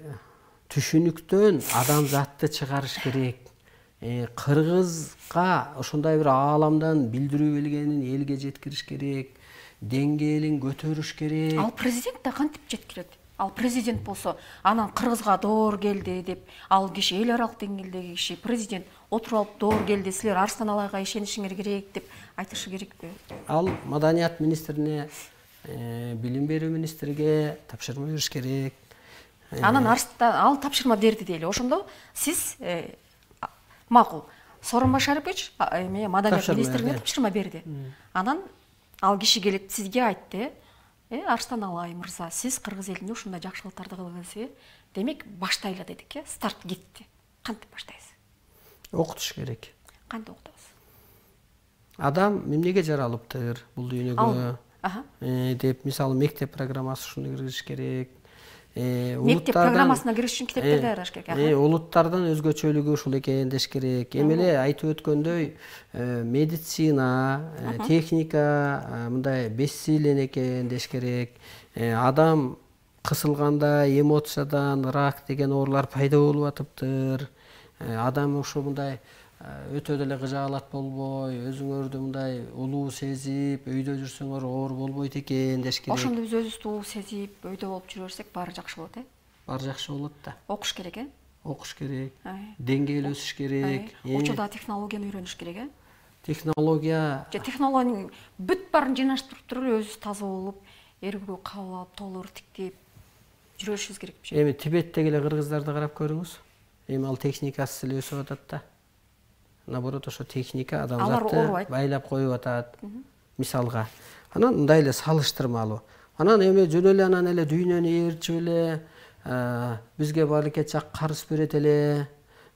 түшүнүктөн адамзатты чыгарыш керек. Кыргызга ошондой бир ааламдан билдирүү келгенин элге жеткириш керек. Деңгээлин көтөрүш керек. Ал президент да кантип жеткирет? Ал президент болсо, анан Кыргызга доор келди деп, ал киши эл аралык деңгээлдеги киши, президент отуруп алып доор келди, силер Арстан Алайга ишенишиңер керек деп айтышы керекпи? Ал маданият министрине, билим берүү министриге тапшырма бериш керек. Анан Арстан ал тапшырма берди дейли. Ошондо сиз макул Сооронбай Шарипович эме маданият министрлигине тапшырма берди. Анан ал киши келип сизге айтты, э Арстан Алай мырза, сиз кыргыз элине ушундай жакшылыктарды кылдыңыз, э демек баштайлы дедик, э старт кетти. Кантип баштайсыз? Окутуш керек. Кантип окутабыз? Адам эмнеге жаралыптыр бул дүйнөгө деп, мисалы мектеп программасы ушуну киргизиш керек. Мектеп программасына кириш үчүн китептерди даярдаш керек. Улуттардан өзгөчөлүгү ушул экен деш керек. Эми эле айтып өткөндөй, медицина, техника мындай бессилен экен деш керек. Адам кысылганда эмоциядан рак деген оорулар пайда болуп атыптыр. Адам ушул мындай өтө деле кыжаалат болбой, өзүңөрдү мындай улуу сезип, өйдө жүрсөңөр оор болбойт экен деш керек. Ошондо биз өзүбүздү улуу сезип, өйдө болуп жүрө берсек, баары жакшы болот, э? Баары жакшы болот да. Окуш керек, э? Окуш керек. Деңгээл өсүш керек. Учурда технологияны үйрөнүш керек, э? Технология. Же технологиянын бүт баарын жыйнаштырып туруп, өзүбүз таза болуп, эргүү кабыл алып, толур тиктеп жүрүшүбүз керек. Эми Тибеттеги эле кыргыздарды карап көрүңүз. Эми ал техникасыз эле өсүп атат да. Наоборот, ошо техника адамзатты байлап коюп атат. Мисалга. Анан мындай эле салыштырмалуу. Анан эми жөн эле анан эле дүйнөнү ээрчип эле бизге баарыкет жак карыз берет эле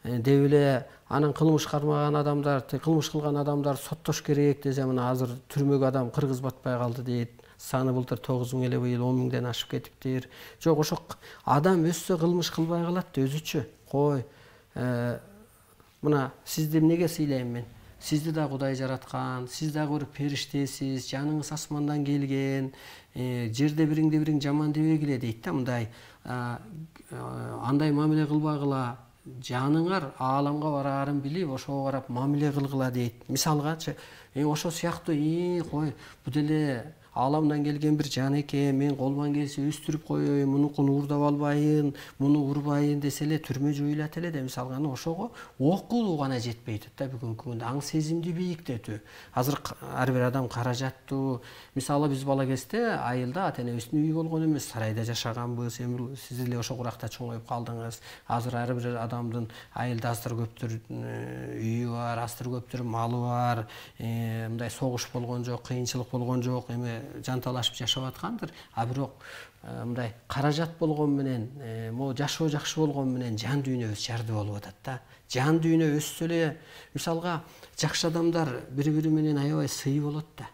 деп эле анан кылмыш кармаган адамдар, кылмыш кылган адамдар соттош керек десе, мына азыр түрмөгө адам кыргыз батпай калды дейт. Саны былтыр тогуз миң эле, быйыл он миңден ашып кетиптир. Жок, ошо адам өссө кылмыш кылбай калат да өзүчө. Кой, мына сизди эмнеге сыйлайм мен? Сизди да Кудай жараткан, сиз дагы бир периштесиз, жаныңыз асмандан келген, жерде бириңди бириң жаман дебегиле дейт да, мындай андай мамиле кылбагыла, жаныңар ааламга бараарын билип, ошого карап мамиле кылгыла дейт. Мисалгачы, ошо сыяктуу, кой, бу деле ааламдан келген бир жан экен, мен колуман келсе өстүрүп коеюн, мунукун уурдап албайын, муну урбайын десе эле түрмө жоюлат эле да. Мисалга ошого окулуу гана жетпейт да бүгүнкү күндө, аң сезимди бийиктетүү. Азыр ар бир адам каражаттуу. Мисалы биз бала кезде айылда ата энебиздин үйү болгон эмес, сарайда жашаганбыз. Эми сиз эле ошо куракта чоңоюп калдыңыз. Азыр ар бир адамдын айылда аздыр көптүр үйү бар, аздыр көптүр малы бар. Мындай согуш болгон жок, кыйынчылык болгон жок. Эми жанталашып жашап аткандыр. А бирок мындай каражат болгон менен, могу жашоо жакшы болгон менен жан дүйнөбүз жарды болуп атат да. Жан дүйнө өссө эле, мисалга жакшы адамдар бири-бири менен аябай сый болот да.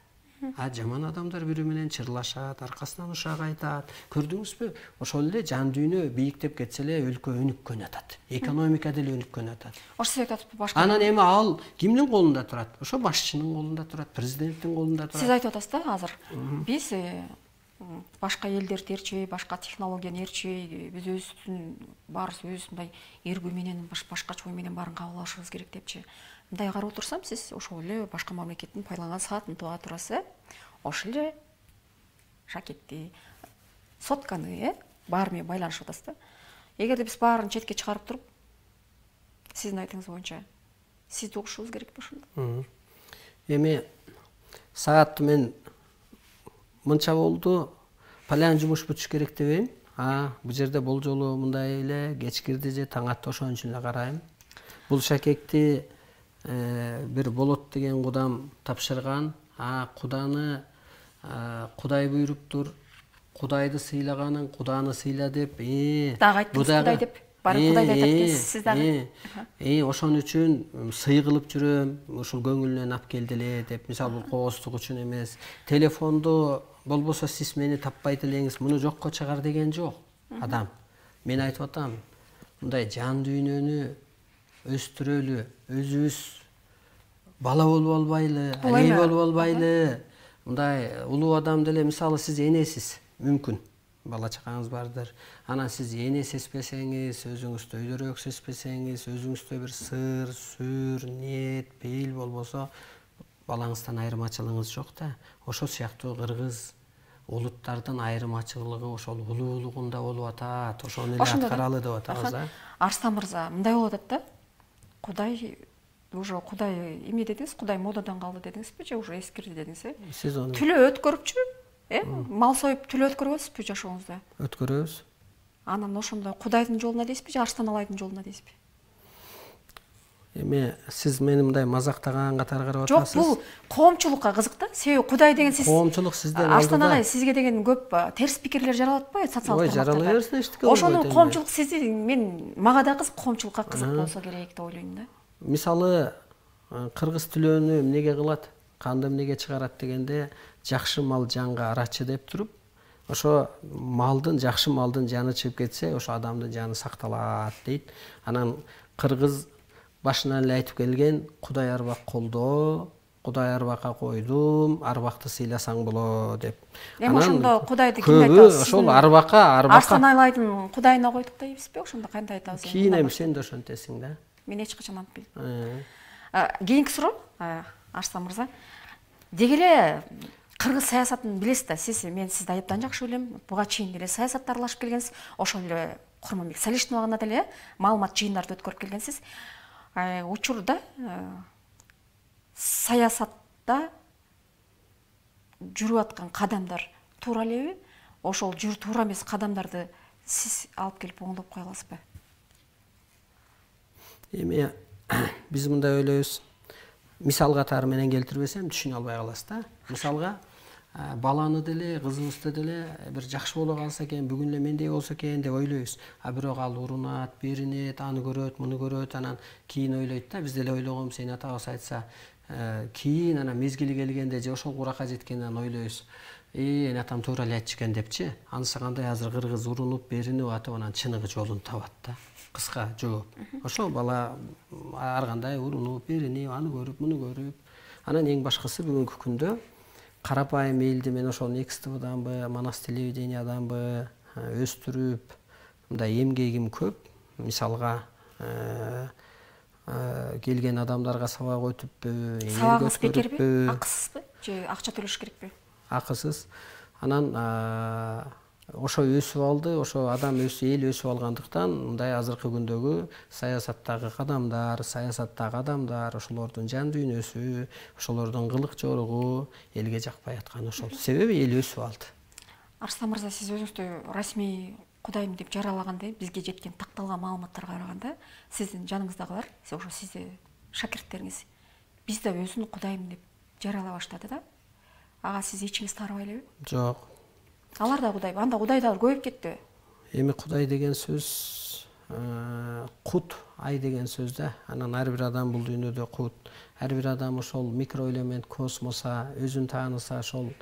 А жаман адамдар бири менен чырлашат, аркасынан ушак айтат. Көрдүңүзбү? Ошол эле жан дүйнө бийиктеп кетсе эле өлкө өнүккөн атат. Экономика деле өнүккөн атат. Ошо сиз айтып башка. Анан эми ал кимдин колунда турат? Ошо башчынын колунда турат, президенттин колунда турат. Сиз айтып атасыз да азыр. Биз башка элдерди ээрчибей, башка технологияны ээрчибей, биз өзүбүздүн баарыбыз өзүбүз мындай эргүү менен, башкача ой менен баарын кабыл алышыбыз керек депчи. Мындай карап отурсам, сиз ошол эле башка мамлекеттин пайдаланган саатын туга турасыз, э? Ошол эле жакетти, сотканы, э? Баары менен байланышып атасыз да. Эгерде биз баарын четке чыгарып туруп, сиздин айтыңыз боюнча, сизди угушубуз керекпи ошондо? Эми саатты мен мынча болду, палян жумуш бүтүш керек дебейм. А, бул жерде болжолу мындай эле кеч кирди же таң атты, ошон үчүн эле карайм. Бул шакекти бир болот деген кудам тапшырган. А, Куданы Кудай буйруптур. Кудайды сыйлаганың Куданы сыйла деп. Э, дагы айттыңыз Кудай деп. Баары Кудайды айтат экенсиз, сиз дагы. Э, ошон үчүн сый кылып жүрөм. Ушул көңүлүнөн ап келди эле деп. Мисалы бул кооздук үчүн эмес. Телефонду болбосо сиз мени таппайт элеңиз, муну жокко чыгар деген жок адам. Мен айтып атам, мындай жан дүйнөнү өстүрөлү, өзүбүз бала болуп албайлы, алей болуп албайлы. Мындай улуу адам деле, мисалы сиз энесиз, мүмкүн бала чакаңыз бардыр. Анан сиз эне сезбесеңиз, өзүңүздө өйдөрөөк сезбесеңиз, өзүңүздө бир сыр, сүр, ниет, пейил болбосо, балаңыздан айырмачылыгыңыз жок да. Ошол сыяктуу кыргыз улуттардын айырмачылыгы ошол улуулугунда болуп атат. Ошону эле аткаралы деп атабыз да. Арстан мырза, мындай болуп атат да. Кудай уже Кудай эмне дедиңиз? Кудай модадан калды дедиңизби же уже эскирди дедиңиз, э? Сиз ону Түлө өткөрүпчү, э? Мал союп түлө өткөрөбүзбү жашооңузда? Өткөрөбүз. Анан ошондо Кудайдын жолуна дейсизби же Арстан Алайдын жолуна дейсизби? Эми сиз мени мындай мазактаган катары карап Жок, атасыз. бул коомчулукка кызык да. Себеби Кудай деген сиз Коомчулук сизден Арстан алдыда. агай, сизге деген көп терс пикирлер жаралат атпайбы социалдык Ой, жаралай тармактарда? берсин, эчтеке болбойт Ошонун эми. коомчулук сизди мен мага да кызык, коомчулукка кызык болсо керек деп ойлойм да. Мисалы, кыргыз тилөөнү эмнеге кылат, канды эмнеге чыгарат дегенде, жакшы мал жанга арачы деп туруп, ошо малдын, жакшы малдын жаны чыгып кетсе, ошо адамдын жаны сакталат дейт. Анан кыргыз башынан эле айтып келген, Кудай арбак колдоо, Кудай арбакка койдум, арбакты сыйласаң болот деп. Эми ошондо Кудайды ким айтат? Көбү ошол арбакка, арбакка. Арстан Алайдын Кудайына койдук дейбизби? Ошондо кандай айтабыз? Кийин эми сен да ошентесиң да. Мен эч качан антпайм. Э. Кийинки суроо, Арстан мырза. Деги эле кыргыз саясатын билесиз да, сиз, мен сизди айыптан жакшы билем. Буга чейин деле саясатта аралашып келгенсиз. Ошол эле Курманбек Салиштиновага деле маалымат жыйындарды өткөрүп келгенсиз. Учурда саясатта жүрүп аткан кадамдар туура элеби? Ошол жүр туура эмес кадамдарды сиз алып келип оңдоп кое аласызбы? Эми биз мындай ойлойбуз. Мисал катары менен келтирбесем түшүнө албай каласыз да. Мисалга баланы деле, кызыбызды деле бир жакшы боло калса экен, бүгүн эле мендей болсо экен деп ойлойбуз. А бирок ал урунат, беринет, аны көрөт, муну көрөт, анан кийин ойлойт да. Биз деле ойлогонбуз, эне атабыз айтса, кийин анан мезгили келгенде же ошол куракка жеткенден ойлойбуз. Э, эне атам туура эле айтчу экен депчи. Анысы кандай азыр кыргыз урунуп, беринип атып, анан чыныгы жолун табат да. Кыска жооп. Ошол бала ар кандай урунуп, беринип, аны көрүп, муну көрүп. Анан эң башкысы бүгүнкү күндө карапайым элди мен ошол Некс ТВданбы, Манас телевиденияданбы өстүрүп, мындай эмгегим көп. Мисалга келген адамдарга сабак өтүппү, сабагыңыз бекерби? Акысызбы? Же акча төлөш керекпи? Акысыз. Анан ошо өсүп алды, ошо адам өсүп, эл өсүп алгандыктан мындай азыркы күндөгү саясаттагы кадамдар, саясаттагы адамдар, ошолордун жан дүйнөсү, ошолордун кылык жоругу элге жакпай аткан ошол. Себеби эл өсүп алды. Арстан мырза, сиз өзүңүздү расмий Кудайым деп жаралаганда, бизге жеткен такталган маалыматтарга караганда, сиздин жаныңыздагылар, ошо сизди шакирттериңиз, биз да өзүн Кудайым деп жаралай баштады да. Ага сиз ичиңиз таарыбай элеби? Жок. Алар да Кудай, анда Кудайдар көбөйүп кетти. Эми Кудай деген сөз кут, ай деген сөз да. Анан ар бир адам бул дүйнөдө кут. Ар бир адам ошол микроэлемент космоса, өзүн тааныса, ошол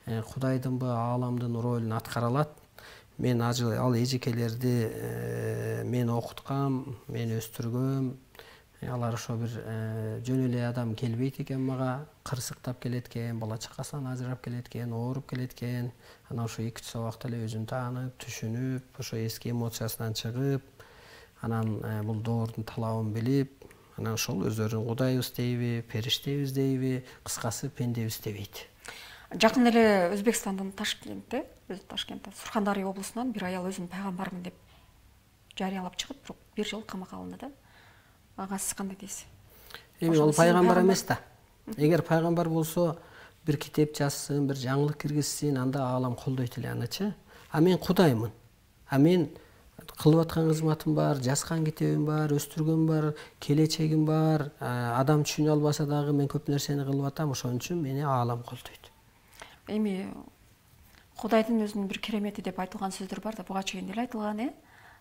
Кудайдынбы, ааламдын ролун аткара алат. Мен ал эжекелерди мен окуткам, мен өстүргөм. Алар ошо бир жөн эле адам келбейт экен мага, кырсыктап келет экен, бала чакасынан ажырап келет экен, ооруп келет экен. Анан ошо эки үч сабакта эле өзүн таанып, түшүнүп, ошо эски эмоциясынан чыгып, анан бул доордун талабын билип, анан ошол өздөрүн Кудайбыз дейби, периштебиз дейби, кыскасы пендебиз дебейт. Жакын эле Өзбекстандын Ташкентте, өзү Ташкентте, Сурхандария облусунан бир аял өзүн пайгамбармын деп жарыялап чыгып, бирок бир жыл камакка алынды да. Ага сиз кандай дейсиз? Эми ал пайгамбар эмес да. Эгер пайгамбар болсо, бир китеп жазсын, бир жаңылык киргизсин, анда аалам колдойт эле анычы. А мен Кудаймын. А мен кылып аткан кызматым бар, жазган китебим бар, өстүргөн бар, келечегим бар. Адам түшүнө албаса дагы мен көп нерсени кылып атам, ошон үчүн мени аалам колдойт. Эми Кудайдын өзүнүн бир керемети деп айтылган сөздөр бар да, буга чейин деле айтылган, э?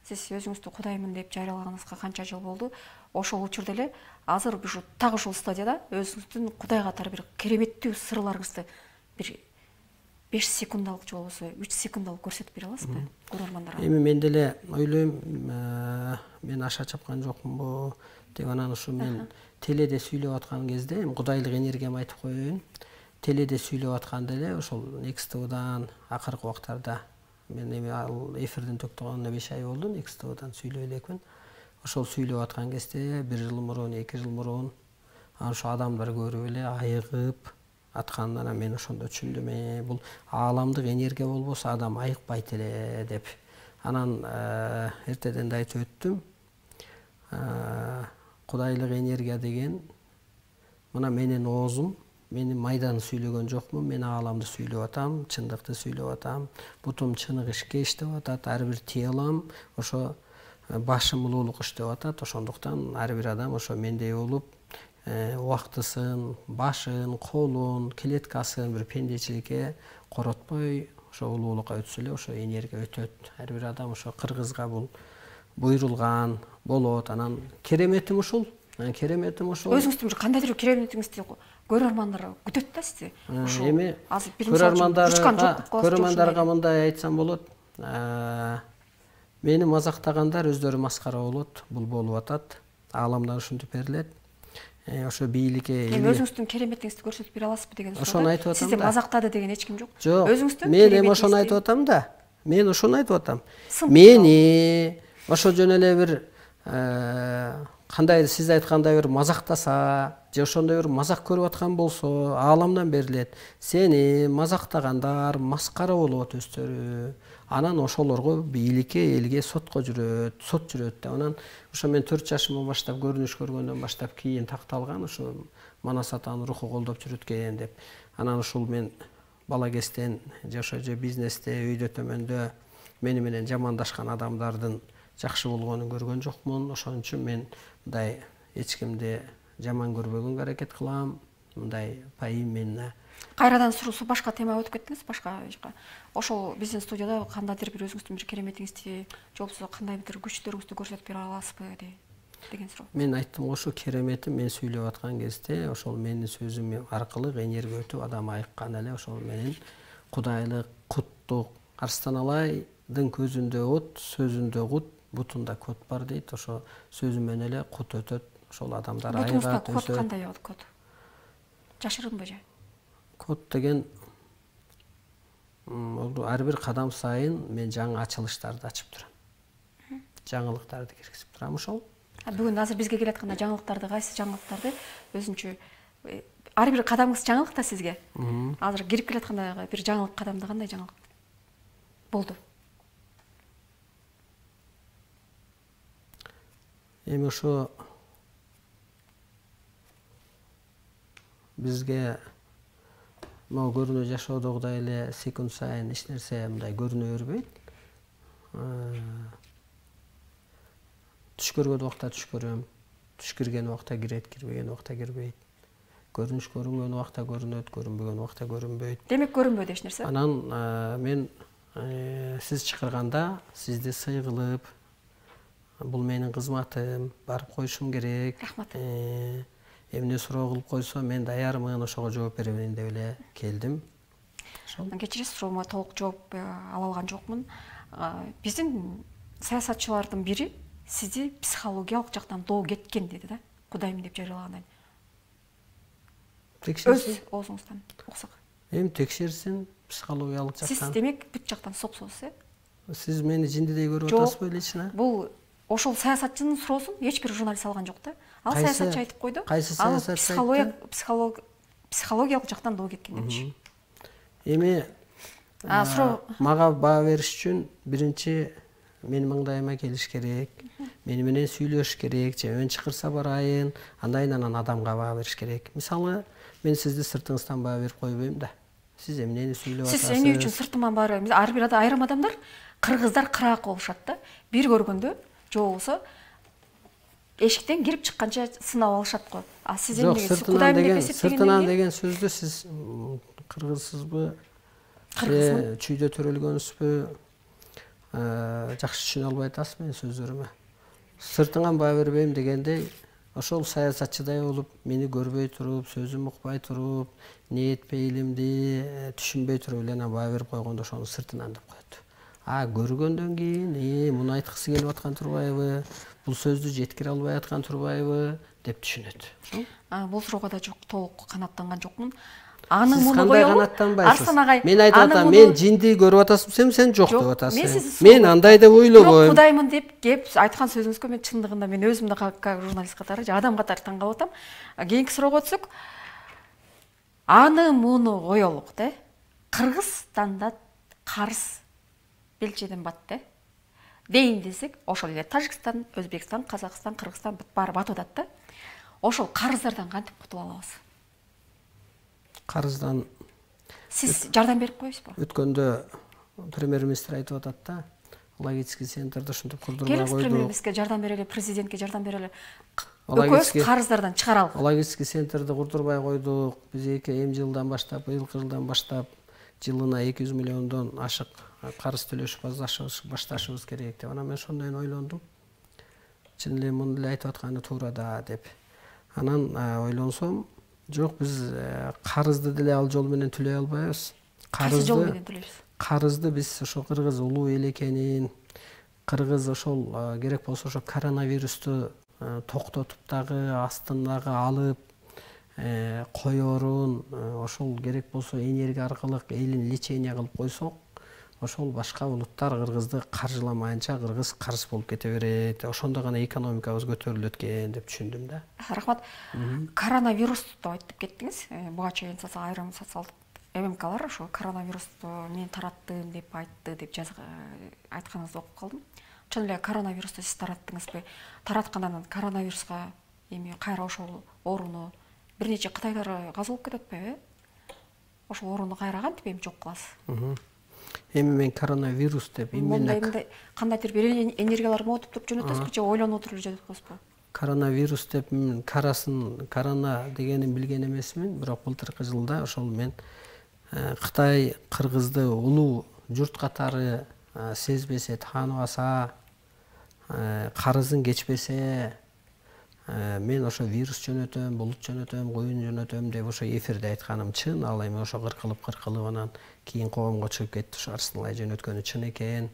Сиз өзүңүздү Кудаймын деп жарыялаганыңызга канча жыл болду? Ошол учурда эле азыр ушу так ушул стадияда өзүңүздүн Кудай катары бир кереметтүү сырларыңызды бир беш секундалык же болбосо үч секундалык көрсөтүп бере аласызбы көрөрмандарга? Эми мен деле ойлойм, мен аша чапкан жокмунбу деп, анан ушу мен теледе сүйлөп аткан кезде эми кудайлык энергиямды айтып коеюн. Теледе сүйлөп атканда эле ошол Некс ТВдан акыркы убактарда мен эми ал эфирдин токтогонуна беш ай болду, Некс ТВдан сүйлөй элекмин. Ошол сүйлөп аткан кезде бир жыл мурун, эки жыл мурун ошо адамдар көрүп эле айыгып атканын мен ошондо түшүндүм. Э, бул ааламдык энергия болбосо адам айыкпайт эле деп. Анан эртеден да айтып өттүм. Кудайлык энергия деген мына менин оозум, мен майдан сүйлөгөн жокмун, мен ааламды сүйлөп атам, чындыкты сүйлөп атам. Бутум чыныгы ишке иштеп атат, ар бир телом ошо башым улуулук иштеп атат. Ошондуктан ар бир адам ошо мендей болуп, убактысын, башын, колун, клеткасын бир пендечиликке коротпой, ошо улуулукка өтсө эле ошо энергия өтөт. Ар бир адам ошо кыргызга бул буйрулган болот. Анан кереметим ушул. Кереметим ушул. Өзүңүздүн бир кандайдыр кереметиңизди көрөрмандар күтөт да сизди. Эми көрөрмандарга көрөрмандарга мындай айтсам болот. Мени мазактагандар өздөрү маскара болот, бул болуп атат. Ааламдан ушинтип берилет. Ошо бийликке эми өзүңүздүн кереметиңизди көрсөтүп бере аласызбы деген суроо. Ошону айтып атам да. Сизди мазактады деген эч ким жок. Жок. Өзүңүздүн мен эми ошону айтып атам да. Мен ошону айтып атам. Мени ошо жөн эле бир кандай сиз айткандай бир мазактаса, же ошондой бир мазак көрүп аткан болсо, ааламдан берилет. Сени мазактагандар маскара болот өздөрү. Анан ошолорго бийликке, элге сотко жүрөт, сот жүрөт да. Анан ошо мен төрт жашымдан баштап көрүнүш көргөндөн баштап кийин такталган ошо Манас атанын руху колдоп жүрөткөн деп. Анан ушул мен бала кезден же ошо же бизнесте, үйдө төмөндө мени менен жамандашкан адамдардын жакшы болгонун көргөн жокмун. Ошон үчүн мен мындай эч кимди жаман көрбөгөнгө аракет кылам. Мындай пайым менен. Кайрадан суруусу башка темага өтүп кеттиңиз, башка жака. Ошол биздин студияда кандайдыр бир өзүңүздүн бир кереметиңизди, же болбосо кандай бир күчтөрүңүздү көрсөтүп бере аласызбы деген суроо. Мен айттым ошо кереметим мен сүйлөп аткан кезде ошол менин сөзүм аркылуу энергия өтүп адам айыккан эле ошол менен кудайлык, куттук, Арстан Алайдын көзүндө от, сөзүндө кут, бутунда кот бар дейт. Ошо сөзү менен эле кут өтөт. Ошол адамдар айыгат. Бутуңузда кот кандай болот кот? Жашырынбы же? Код деген ар бир кадам сайын мен жаңы ачылыштарды ачып турам. Жаңылыктарды киргизип турам ошол. Бүгүн азыр бизге келатканда жаңылыктарды кайсы жаңылыктарды өзүнчө ар бир кадамыңыз жаңылык да сизге. Азыр кирип келатканда бир жаңылык кадамда кандай жаңылык болду? Эми ошо бизге могу көрүнө жашоодогудай эле секунд сайын эч нерсе мындай көрүнө бербейт. Түш көргөн убакта түш көрөм, түш кирген убакта кирет, кирбеген убакта кирбейт. Көрүнүш көрүнгөн убакта көрүнөт, көрүнбөгөн убакта көрүнбөйт. Демек көрүнбөйт эч нерсе. Анан мен сиз чакырганда сизди сый кылып, бул менин кызматым, барып коюшум керек. Рахмат. Эмне суроо кылып койсо мен даярмын, ошого жооп беребин деп эле келдим. Кечиресиз, суроомо толук жооп ала алган жокмун. Биздин саясатчылардын бири сизди психологиялык жактан доо кеткен деди да, Кудайым деп жарыялагандан. Өз оозуңуздан уксак. Эми текшерсин психологиялык жактан. Сиз демек бүт жактан соксуз, э? Сиз мени жиндидей көрүп атасызбы лично? Бул ошол саясатчынын суроосун эч бир журналист алган жок да. Ал саясатчы айтып койду. Кайсы саясатчы айтты? Психологиялык жактан доо кеткен депчи. Эми мага баа бериш үчүн биринчи менин маңдайыма келиш керек, мени менен сүйлөш керек, же мен чакырса барайын, андан анан адамга баа бериш керек. Мисалы, мен сизди сыртыңыздан баа берип койбойм да. Сиз эмнени сүйлөп атасыз? Сиз эмне үчүн сыртыман баа берип? Ар бир айрым адамдар кыргыздар кыраак болушат да. Бир көргөндө же болбосо эшиктен кирип чыкканча сынап алышат го. А сиз эмне Кудайым деп эсептегенден сыртынан деген сөздү сиз кыргызсызбы? Кыргызмын. Чүйдө төрөлгөнсүзбү? Жакшы түшүнө албай атасыз менин сөздөрүмө. Сыртыңан баа бербейм дегенде ошол саясатчыдай болуп, мени көрбөй туруп, сөзүм укпай туруп, ниет пейилимди түшүнбөй туруп эле баа берип койгондо ошону сыртынан деп коет. А көргөндөн кийин, "Э, муну айткысы келип аткан турбайбы? Бул сөздү жеткире албай аткан турбайбы?" деп түшүнөт. Бул суроого да жок, толук канааттанган жокмун. Аны муну коелу. Арстан Агай, мен айтып атам, мен жинди көрүп атасызбы, сен жок деп атасың. Мен андай деп ойлобойм. Кудаймын деп кеп айткан сөзүңүзгө мен чындыгында мен өзүмдү как журналист катары, же адам катары таң калып атам. Кийинки суроого өтсөк, аны муну коелук, да. Кыргызстанда карыз белчеден батты. Дейин десек, ошол эле Тажикстан, Өзбекстан, Казакстан, Кыргызстан баары батып атат да. Ошол карыздардан кантип кутула алабыз? Карыздан сиз жардам берип коесузбу? Өткөндө премьер-министр айтып атат да, логистика центрди ушинтип курдурбай келиңиз койдук. премьер-министрге жардам берели, президентке жардам берели. Экөөбүз карыздардан чыгаралы. Логистика центрди курдурбай койдук. Биз эки эми жылдан баштап, быйылкы жылдан баштап жылына эки жүз миллиондон ашык карыз төлөшүп башташыбыз керек деп. Анан мен ошондон ойлондум. Чын эле муну деле айтып атканы туура да деп. Анан ойлонсом, жок, биз карызды деле ал жол менен төлөй албайбыз. Кайсы жол менен төлөйбүз? Карызды биз ошо кыргыз улуу эл экенин, кыргыз ошол керек болсо ошо коронавирусту токтотуп дагы астындагы алып коерун, ошол керек болсо энергия аркылуу элин лечение кылып койсок, ошол башка улуттар кыргызды каржыламайынча кыргыз карыз болуп кете берет. Ошондо гана экономикабыз көтөрүлөт экен деп түшүндүм да. Рахмат. Коронавирусту айтып кеттиңиз. Буга чейин айрым социалдык ММКлар ошо коронавирусту мен тараттым деп айтты деп айтканыңызды окуп калдым. Чын эле коронавирусту сиз тараттыңызбы? Тараткандан коронавируска эми кайра ошол ооруну бир нече кытайлар каза болуп кетип атпайбы? Ошол ооруну кайра кантип эми жок кыласыз? Эми мен коронавирус деп эмне кандайдыр бир энергиялар мотуп туруп жөнөтөсүзбү же ойлонуп отуруп эле жөнөтөп коесузбу? Коронавирус деп карасын, корона дегенин билген эмесмин, бирок былтыркы жылда ошол мен Кытай кыргызды улуу журт катары сезбесе, тааныбаса, карызын кечпесе, мен ошо вирус жөнөтөм, булут жөнөтөм, куюн жөнөтөм деп ошо эфирде айтканым чын. Ал эми ошо кыркылып кыркылып анан кийин коомго чыгып кетти, ошо Арсеналай жөнөткөнү чын экен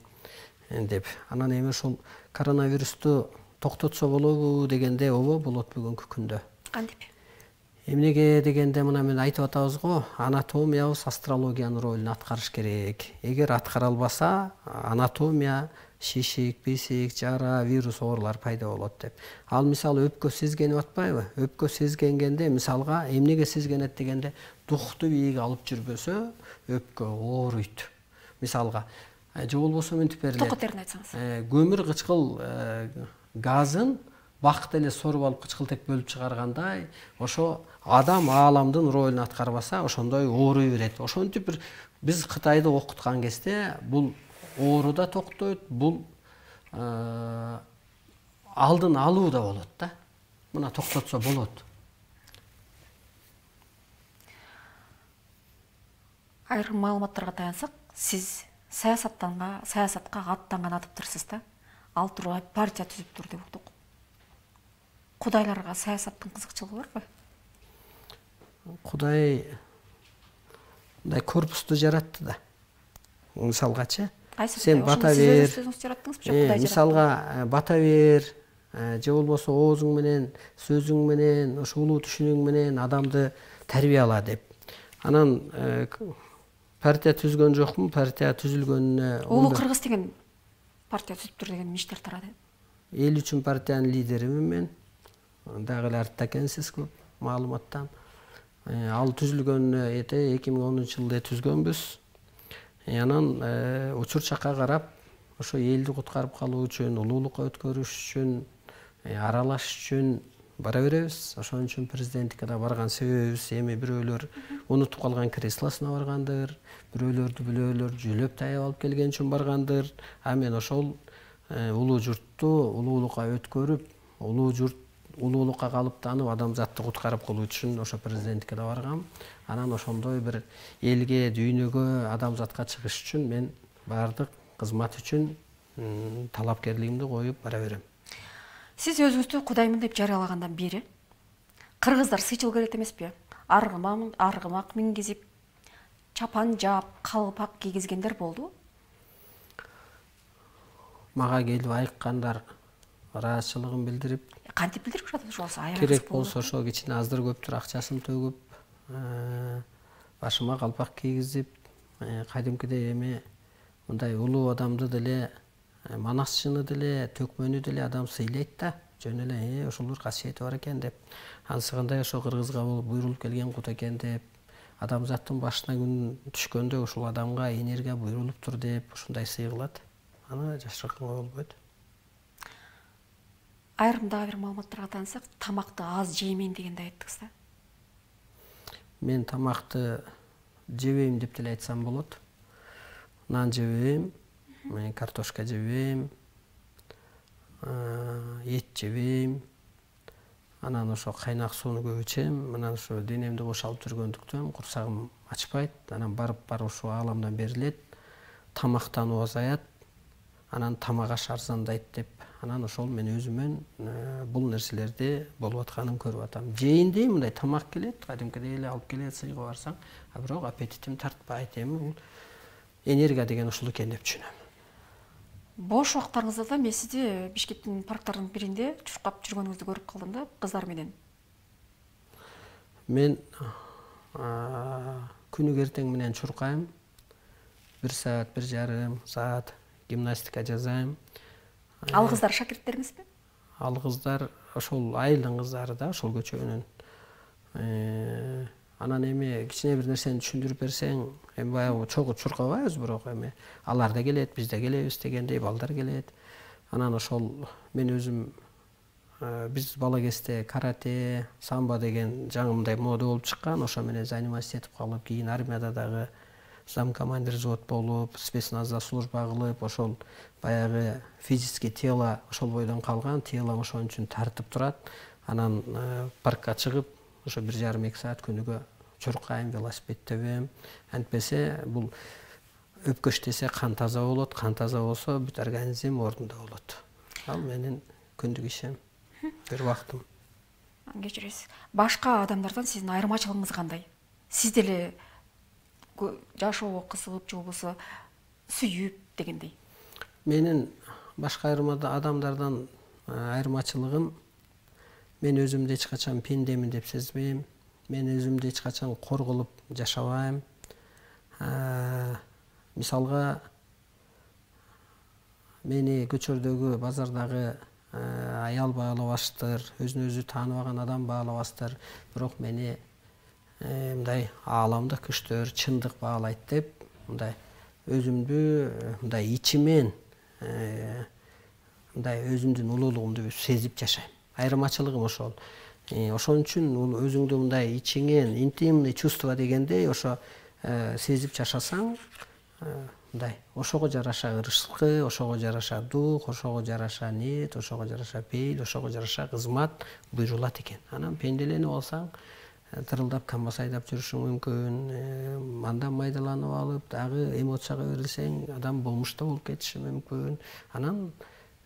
деп. Анан эми ошол коронавирусту токтотсо болобу дегенде, ооба болот бүгүнкү күндө. Кантип? Эмнеге дегенде, мына мен айтып атабыз го, анатомиябыз астрологиянын ролун аткарыш керек. Эгер аткара албаса, анатомия, шишик, бесик, жара, вирус оорулар пайда болот деп. Ал мисалы өпкө сезгенип атпайбы? Өпкө сезгенгенде мисалга эмнеге сезгенет дегенде, дукту бийик алып жүрбөсө өпкө ооруйт. Мисалга, же болбосо мынтип берилет. Токотерин айтсаңыз. Көмүр кычкыл газын бакыт эле соруп алып кычкылтек бөлүп чыгаргандай, ошо адам ааламдын ролун аткарбаса, ошондой ооруй берет. Ошентип бир биз Кытайды окуткан кезде бул оору да токтойт, бул алдын алуу да болот да. Мына токтотсо болот. Айрым маалыматтарга таянсак, сиз саясаттанга, саясатка аттанган атыптырсыз да. Ал тургай партия түзүптүр деп уктук. Кудайларга саясаттын кызыкчылыгы барбы? Кудай мындай корпусту жаратты да. Мисалгачы, сен бата бер. Мисалга бата бер, же болбосо оозуң менен, сөзүң менен, ошо улуу түшүнүң менен адамды тарбияла деп. Анан партия түзгөн жокмун, партия түзүлгөнүнө Улуу Кыргыз деген партия түзүптүр деген миштер тарады. Эл үчүн партиянын лидеримин мен. Дагы эле артта экенсиз көп маалыматтан. Ал түзүлгөнүнө эки миң онунчу жылда түзгөнбүз. Анан учур чакка карап, ошо элди куткарып калуу үчүн, улуулукка өткөрүш үчүн, аралаш үчүн бара беребиз. Ошон үчүн президенттикке барган себебибиз эми бирөөлөр унутуп калган креслосуна баргандыр, бирөөлөрдү бирөөлөр жөлөп таяп алып келген үчүн баргандыр. А мен ошол улуу журтту улуулукка өткөрүп, улуу журт улуулукка калыптанып, адамзатты куткарып калуу үчүн ошо президенттикке да баргам. Анан ошондой бир элге, дүйнөгө, адамзатка чыгыш үчүн мен баардык кызмат үчүн талапкерлигимди коюп бара берем. Сиз өзүңүздү кудаймын деп жарыялагандан бери кыргыздар сыйчыл келет эмеспи? Аргымак, аргымак мингизип, чапан жаап, калпак кийгизгендер болду. Мага келип айыккандар, ыраазычылыгын билдирип, кантип билдирип жатат ошол аябай керек болсо ошо кичине аздыр көптүр акчасын төгүп, башыма калпак кийгизип, кадимкидей эми мындай улуу адамды деле, манасчыны деле, төкмөнү деле адам сыйлайт да. Жөн эле ошолор касиети бар экен деп. Ансыгындай ошо кыргызга буйрулуп келген кут экен деп, адамзаттын башына күн түшкөндө ушул адамга энергия буйрулуптур деп ушундай сый кылат. Аны жашырканга болбойт. Айрым дагы бир маалыматтарга таянсак, тамакты аз жеймен дегенди айттыңыз да. Мен тамакты жебейм деп деле айтсам болот. Нан жебейм, мен картошка жебейм, эт жебейм. Анан ошо кайнак сууну көп ичем. Анан ошо денемди бошалып жүргөндүктөн курсагым ачпайт. Анан барып барып ушул ааламдан берилет. Тамактануу азаят. Анан тамак аш арзандайт деп. Анан ошол мен өзүмөн бул нерселерди болуп атканын көрүп атам. Жейинди мындай тамак келет, кадимкидей эле алып келет, сыйга барсаң, а бирок аппетитим тартпайт. Эми бул энергия деген ушул экен деп түшүнөм. Бош убактарыңызда мен сизди Бишкектин парктарынын биринде чуркап жүргөнүңүздү көрүп калдым да, кыздар менен. Мен күнүгө эртең менен чуркайм. Бир саат, бир жарым саат гимнастика жасайм. Ал кыздар шакирттериңизби? Ал кыздар ошол айылдын кыздары да, ошол көчөнүн. Анан эми кичине бир нерсени түшүндүрүп берсең, эми баягы чогуу чуркабайбыз, бирок эми алар да келет, биз да келебиз дегендей балдар келет. Анан ошол мен өзүм биз бала кезде карате, самбо деген жаңы мындай мода болуп чыккан, ошо менен заниматься этип калып, кийин армияда дагы замкомандир взвод болуп, спецназда служба кылып, ошол баягы физический тело ошол бойдон калган, телом ошон үчүн тартып турат. Анан паркка чыгып, ошо бир жарым эки саат күнүгө чуркайм, велосипед тебем. Антпесе бул өпкөч десе кан таза болот, кан таза болсо бүт организм ордунда болот. Ал менин күндүк ишим, бир убактым. Кечиресиз. Башка адамдардан сиздин айырмачылыгыңыз кандай? Сиз деле жашоого кызыгып же болбосо сүйүп дегендей. Менин башка адамдардан айырмачылыгым, мен өзүмдү эч качан пендемин деп сезбейм. Мен өзүмдү эч качан кор кылып жашабайм. Мисалга, мени көчөрдөгү, базардагы аял баалабаштыр, өзүн өзү тааныбаган адам баалабастыр, бирок мени мындай ааламдык күчтөр, чындык баалайт деп, мындай өзүмдү мындай ичимен мындай өзүмдүн улуулугумду сезип жашайм. Айырмачылыгым ошол. Ошон үчүн өзүңдү мындай ичиңен интимный чувство дегендей ошо сезип жашасаң, мындай ошого жараша ырышкы, ошого жараша дух, ошого жараша ниет, ошого жараша пейил, ошого жараша кызмат буйрулат экен. Анан пенделенип алсаң, тырылдап камбас айдап жүрүшүң мүмкүн, андан майдаланып алып, дагы эмоцияга берилсең, адам болмушта болуп кетиши мүмкүн. Анан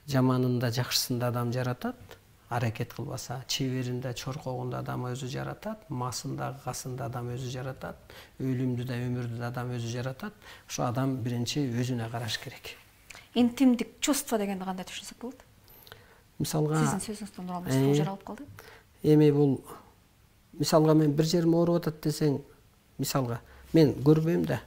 жаманында, жакшысында адам жаратат, аракет кылбаса, чеберинде, чоркогунда адам өзү жаратат, масында, касында адам өзү жаратат, өлүмдү да, өмүрдү да адам өзү жаратат. Ошо адам биринчи өзүнө караш керек. Интимдик чувство дегенди кандай түшүнсөк болот? Мисалга, сиздин сөзүңүздөн уралып жаралып калды. Эми бул мисалга мен бир жерим ооруп атат десең, мисалга мен көрбөйм да.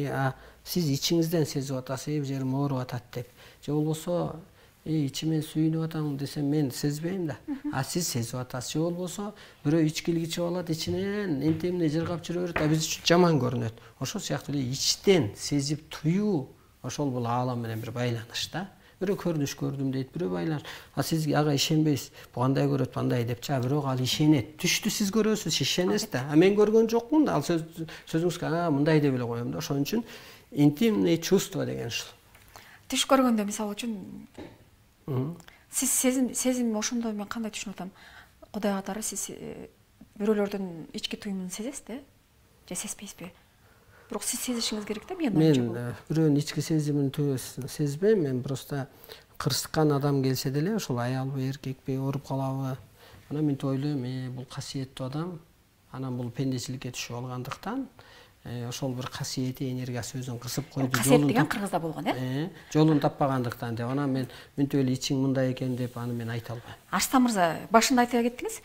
А сиз ичиңизден сезип атасыз, бир жерим ооруп атат деп. Же болбосо, ичимен сүйүнүп атам десем мен сезбейм да. А сиз сезип атасыз. Же болбосо, бирөө ичкилик ичип алат, ичинен интимный жыргап жүрө берет, а биз үчүн жаман көрүнөт. Ошол сыяктуу эле ичтен сезип туюу, ошол бул аалам менен бир байланыш да. Бирөө көрүнүш көрдүм дейт, бирөө байланыш. А сиз ага ишенбейсиз. Бу кандай көрөт, кандай депчи, а бирок ал ишенет. Түштү сиз көрөсүз, ишенесиз да. А мен көргөн жокмун да. Ал сөзүңүзгө а мындай деп эле коем да. Ошон үчүн интимный чувство деген ушул. Түш көргөндө мисалы үчүн сиз сезим сезим ошондо мен кандай түшүнүп атам? Кудай катары сиз бирөөлөрдүн ички туюмун сезесиз да? Же сезбейсизби? Бирок сиз сезишиңиз керек да, мен Мен бирөөнүн ички сезимин сезбейм, мен просто кырсыккан адам келсе деле, ошол аялбы, эркекпи, ооруп калабы, анан мен ойлойм, бул касиеттүү адам, анан бул пендечиликке түшүп алгандыктан, ошол бир касиети, энергиясы өзүн кысып койду. Касиет деген кыргызда болгон, э? Жолун таппагандыктан деп, анан мен мынтип эле ичиң мындай экен деп аны мен айта албайм. Арстан мырза, башында айта кеттиңиз,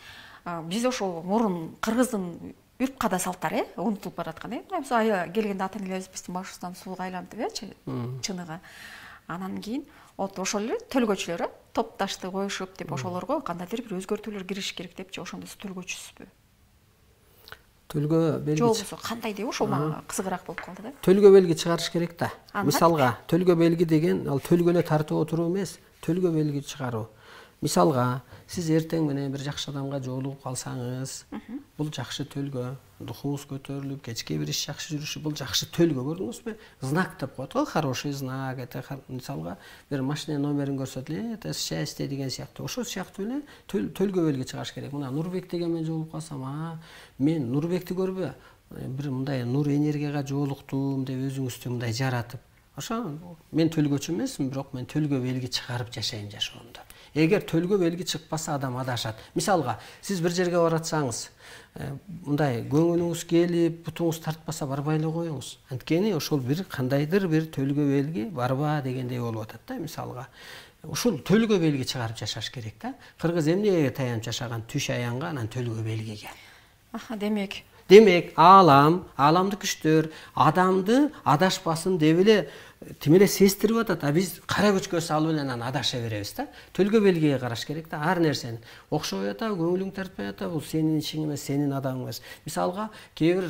биз ошол мурун кыргыздын үрп када салттары, э, унутулуп бараткан, э. Мисалы ая келгенде ата энелерибиздин башыбыздан сууга айлантып, э, чыныгы. Анан кийин вот ошол эле төлгөчүлөр, э, топ ташты коюшуп деп ошолорго кандайдыр бир өзгөртүүлөр кириш керек депчи, ошондо сиз төлгөчүсүзбү? Төлгө белги. Же болбосо кандай деп ошол мага кызыгыраак болуп калды да. Төлгө белги чыгарыш керек да. Мисалга, төлгө белги деген ал төлгө эле тартып отуруу эмес, төлгө белги чыгаруу. Мисалга, сиз эртең менен бир жакшы адамга жолугуп калсаңыз, бул жакшы төлгө. Духуңуз көтөрүлүп, кечке бир иш жакшы жүрүшү, бул жакшы төлгө, көрдүңүзбү? Знак деп коет го, хороший знак. Это мисалга бир машина номерин көрсөтүп эле, это счастье деген сыяктуу. Ошол сыяктуу эле төлгө белги чыгарыш керек. Мына Нурбек деген менен жолугуп калсам, а мен Нурбекти көрбө, бир мындай нур энергияга жолуктум деп өзүңүздү мындай жаратып. Ошо мен төлгөчү эмесмин, бирок мен төлгө белги чыгарып жашайм жашоомдо. Эгер төлгө белги чыкпаса, адам адашат. Мисалга, сиз бир жерге баратсаңыз, мындай көңүлүңүз келип, бутуңуз тартпаса, барбай эле коюңуз. Анткени ошол бир кандайдыр бир төлгө белги барба дегендей болуп атат да, мисалга. Ушул төлгө белги чыгарып жашаш керек да. Кыргыз эмнеге таянып жашаган? Түш аянга, анан төлгө белгиге. Аха, демек. Демек, аалам, ааламдык күчтөр адамды адашпасын деп эле тим эле сездирип атат. А биз кара күчкө салып эле анан адаша беребиз да. Төлгө белгиге караш керек да. Ар нерсени окшобой атабы, көңүлүң тартпай атабы, бул сенин ишиң эмес, сенин адамың эмес. Мисалга, кээ бир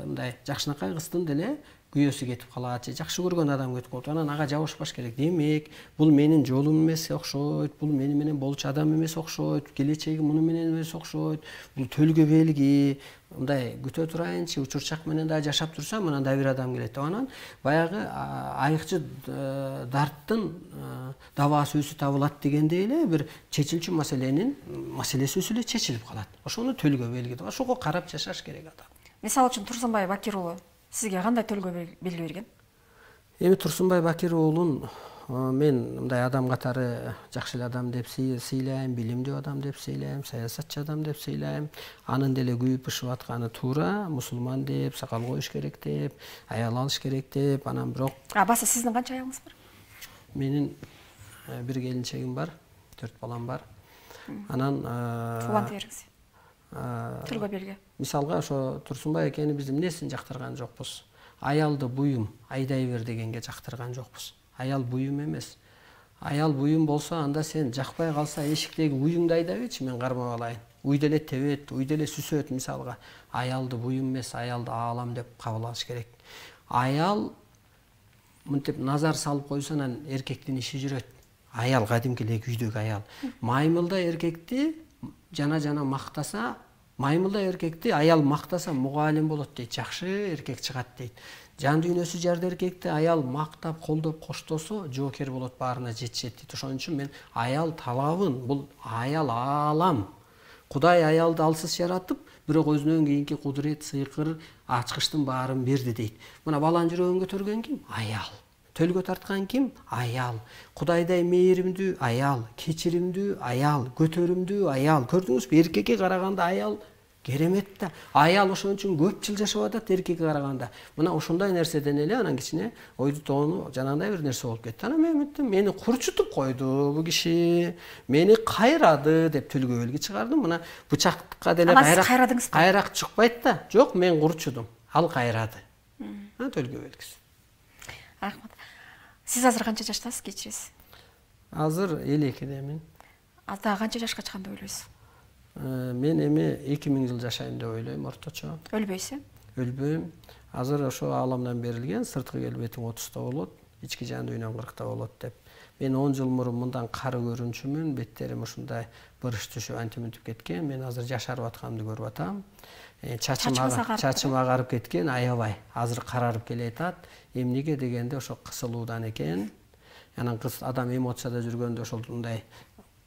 мындай жакшынакай кыздын деле күйөөсү кетип калат, же жакшы көргөн адам кетип калат. Анан ага жабышпаш керек. Демек, бул менин жолум эмес окшойт, бул мени менен болчу адам эмес окшойт, келечеги муну менен эмес окшойт. Бул төлгө белги. Мындай күтө турайынчы, учурчак менен да жашап турсам, анан да бир адам келет деп анан баягы айыкчы дарттын дабаасы өзү табылат дегендей эле бир чечилчү маселенин маселеси өзү эле чечилип калат. Ошону төлгө белги деп, ошого карап жашаш керек адам. Мисалы үчүн Турсунбай Бакир уулу сизге кандай төлгө белги берген? Эми Турсунбай Бакир уулун мен мындай адам катары жакшы эле адам деп сыйлайм, билимдүү адам деп сыйлайм, саясатчы адам деп сыйлайм. Анын деле күйүп бышып атканы туура, мусулман деп, сакал коюш керек деп, аял алыш керек деп, анан бирок. А баса сиздин канча аялыңыз бар? Менин бир келинчегим бар, төрт балам бар. Анан уланты бериңиз. Төлгө белги. Мисалга ошо Турсунбай экени биз эмнесин жактырган жокпуз? Аялды буюм айдай бер дегенге жактырган жокпуз. Аял буюм эмес. Аял буюм болсо, анда сен жакпай калса эшиктеги уюңду айдабычы, мен кармап алайын. Уйду эле тебет, уйду эле сүсөт мисалга. Аялды буюм эмес, аялды аалам деп кабыл алыш керек. Аял мынтип назар салып койсо, анан эркектин иши жүрөт. Аял кадимки эле үйдөгү аял. Маймылда эркекти жана-жана мактаса, маймылда эркекти аял мактаса мугалим болот дейт, жакшы эркек чыгат дейт. Жан дүйнөсү жарды эркекти аял мактап, колдоп, коштосо, жоокер болот, баарына жетишет дейт. Ошон үчүн мен аял талабын, бул аял аалам. Кудай аялды алсыз жаратып, бирок өзүнөн кийинки кудурет, сыйкыр, ачкычтын баарын берди дейт. Мына баланын жүрөгүн көтөргөн ким? Аял. Төлгө тарткан ким? Аял. Кудайдай мээримдүү аял, кечиримдүү аял, көтөрүмдүү аял. Көрдүңүзбү? Эркекке караганда аял керемет да. Аял ошон үчүн көп жыл жашап атат эркекке караганда. Мына ошондой нерседен эле анан кичине ойду тоону жанагындай бир нерсе болуп кетти. Анан мен айттым, мени курчутуп койду бул киши, мени кайрады деп төлгө белги чыгардым. Мына бычакка деле кайрак кайрак чыкпайт да. Жок, мен курчудум, ал кайрады. Ана төлгө белгиси. Рахмат. Сиз азыр канча жаштасыз, кечиресиз? Азыр элүү экидемин. Ата канча жашка чыккан деп ойлойсуз? Мен эми эки миң жыл жашайм деп ойлойм орточо. Өлбөйсүз? Өлбөйм. Азыр ошо ааламдан берилген, сырткы келбетиң отузда болот, ички жан дүйнөң кыркта болот деп. Мен он жыл мурун мындан кары көрүнчүмүн, беттерим ушундай бырыш түшүп антип кеткен. Мен азыр жашарып атканымды көрүп атам. Чачым агарып кеткен, аябай. Азыр карарып келе атат. Эмнеге дегенде ошо кысылуудан экен. Анан кыз адам эмоцияда жүргөндө ошол мындай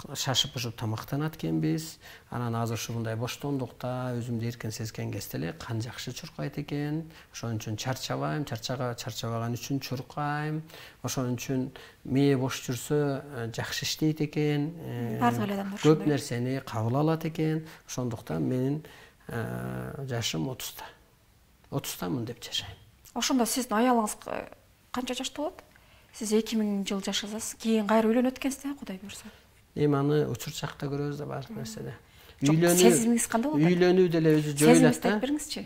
шашып-пышып тамактанат экенбиз. Анан азыр ушундай боштондукта өзүмдү эркин сезген кезде эле кан жакшы чуркайт экен. Ошон үчүн чарчабайм, чарчага чарчабаган үчүн чуркайм. Ошон үчүн мээ бош жүрсө жакшы иштейт экен. Бардык эле адамдар көп нерсени кабыл алат экен. Ошондуктан менин жашым отузда. отуздамын деп жашайм. Ошондо сиздин аялыңыз канча жашта болот? Сиз эки миң жыл жашасыз, кийин кайра үйлөнөт экенсиз да, Кудай буйрса. Эми аны учурчакта көрөбүз да баардык нерседе. Үйлөнүү сезимиңиз кандай болот? Үйлөнүү деле өзү жоюлат да. Сезимиңизди бериңизчи.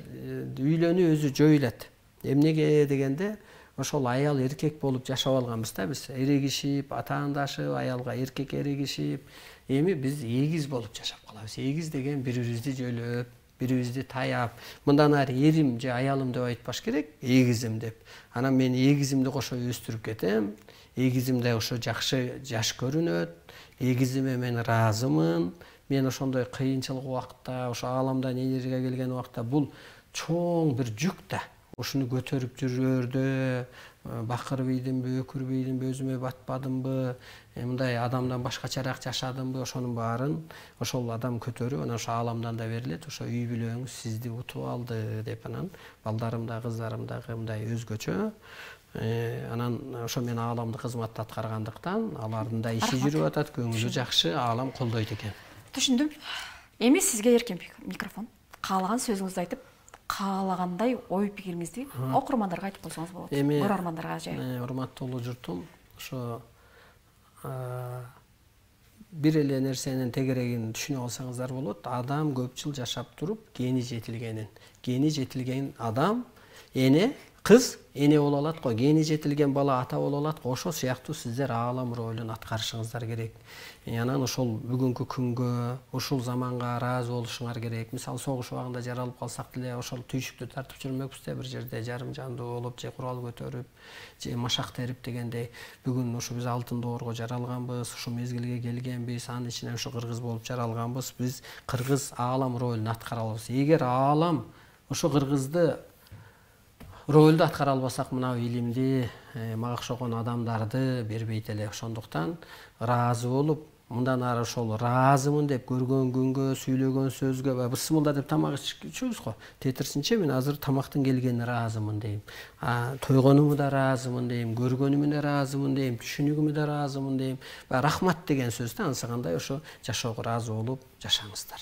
Үйлөнүү өзү жоюлат. Эмнеге дегенде, ошол аял эркек болуп жашап алганбыз да биз. Эрегишип, атаандашып, аялга эркек эрегишип, эми биз эгиз болуп жашап калабыз. Эгиз деген бири-бирибизди жөлөп, бири-бирибизди таяп, мындан ары эрим же аялым деп айтпаш керек, эгизим деп. Анан мен эгизимди кошо өстүрүп кетем. Эгизимде ошо жакшы жаш көрүнөт. негизиме мен ыраазымын. Мен ошондой кыйынчылык убакытта, ошо ааламдан энергия келген убакта бул чоң бир жүк да. Ушуну көтөрүп жүрөрдө бакыр бийдимби, өкүр бийдимби, өзүмө батпадымбы, мындай адамдан башкачараак жашадымбы, ошонун баарын ошол адам көтөрүп, анан ошо ааламдан да берилет. Ошо үй бүлөңүз сизди утуп алды деп, анан балдарым да, кыздарым дагы мындай өзгөчө. Анан ошо мен ааламдык кызматты аткаргандыктан алардын да иши жүрүп атат, көңүлү жакшы, аалам колдойт экен. Түшүндүм. Эми сизге эркен микрофон. Каалаган сөзүңүздү айтып, каалагандай ой пикириңизди окурмандарга айтып койсоңуз болот. Көрөрмандарга же. Урматтуу журтум, ошо бир эле нерсенин тегерегин түшүнүп алсаңыздар болот. Адам көп жыл жашап туруп, гени жетилгенин. Гени жетилген адам, эне, кыз эне боло алат го, гени жетилген бала ата боло алат го. Ошо сыяктуу сиздер аалам ролун аткарышыңыздар керек. Анан ошол бүгүнкү күнгө, ушул заманга ыраазы болушуңар керек. Мисалы, согуш убагында жаралып калсак деле, ошол түйшүктү тартып жүрмөкпүз да, бир жерде жарым жандуу болуп, же курал көтөрүп, же машак терип дегендей. Бүгүн ушу биз алтын доорго жаралганбыз, ушу мезгилге келгенбиз, анын ичинен ушу кыргыз болуп жаралганбыз. Биз кыргыз аалам ролун аткара алабыз. Эгер аалам ошо кыргызды ролду аткара албасак, мына илимди, мага окшогон адамдарды бербейт эле. Ошондуктан ыраазы болуп, мындан ары ошол ыраазымын деп көргөн күнгө, сүйлөгөн сөзгө, бысмылда деп тамак ичебиз го. Тетирсинче мен азыр тамактын келгенине ыраазымын дейм. Тойгонуму да ыраазымын дейм, көргөнүмө да ыраазымын дейм, түшүнүгүмө да ыраазымын дейм. Рахмат деген сөз да, анысы кандай ошо жашоого ыраазы болуп жашаңыздар.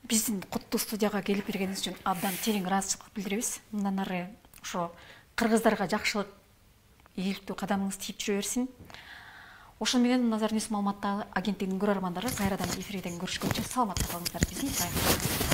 Биздин куттуу студияга келип бергениңиз үчүн абдан терең ыраазычылык билдиребиз. Мындан ары ошо кыргыздарга жакшылык, ийгиликтүү кадамыңыз тийип жүрө берсин. Ошону менен Назар Ньюс маалыматтар агенттигинин көрөрмандары кайрадан эфирден көрүшкөнчө саламатта калыңыздар. Биздин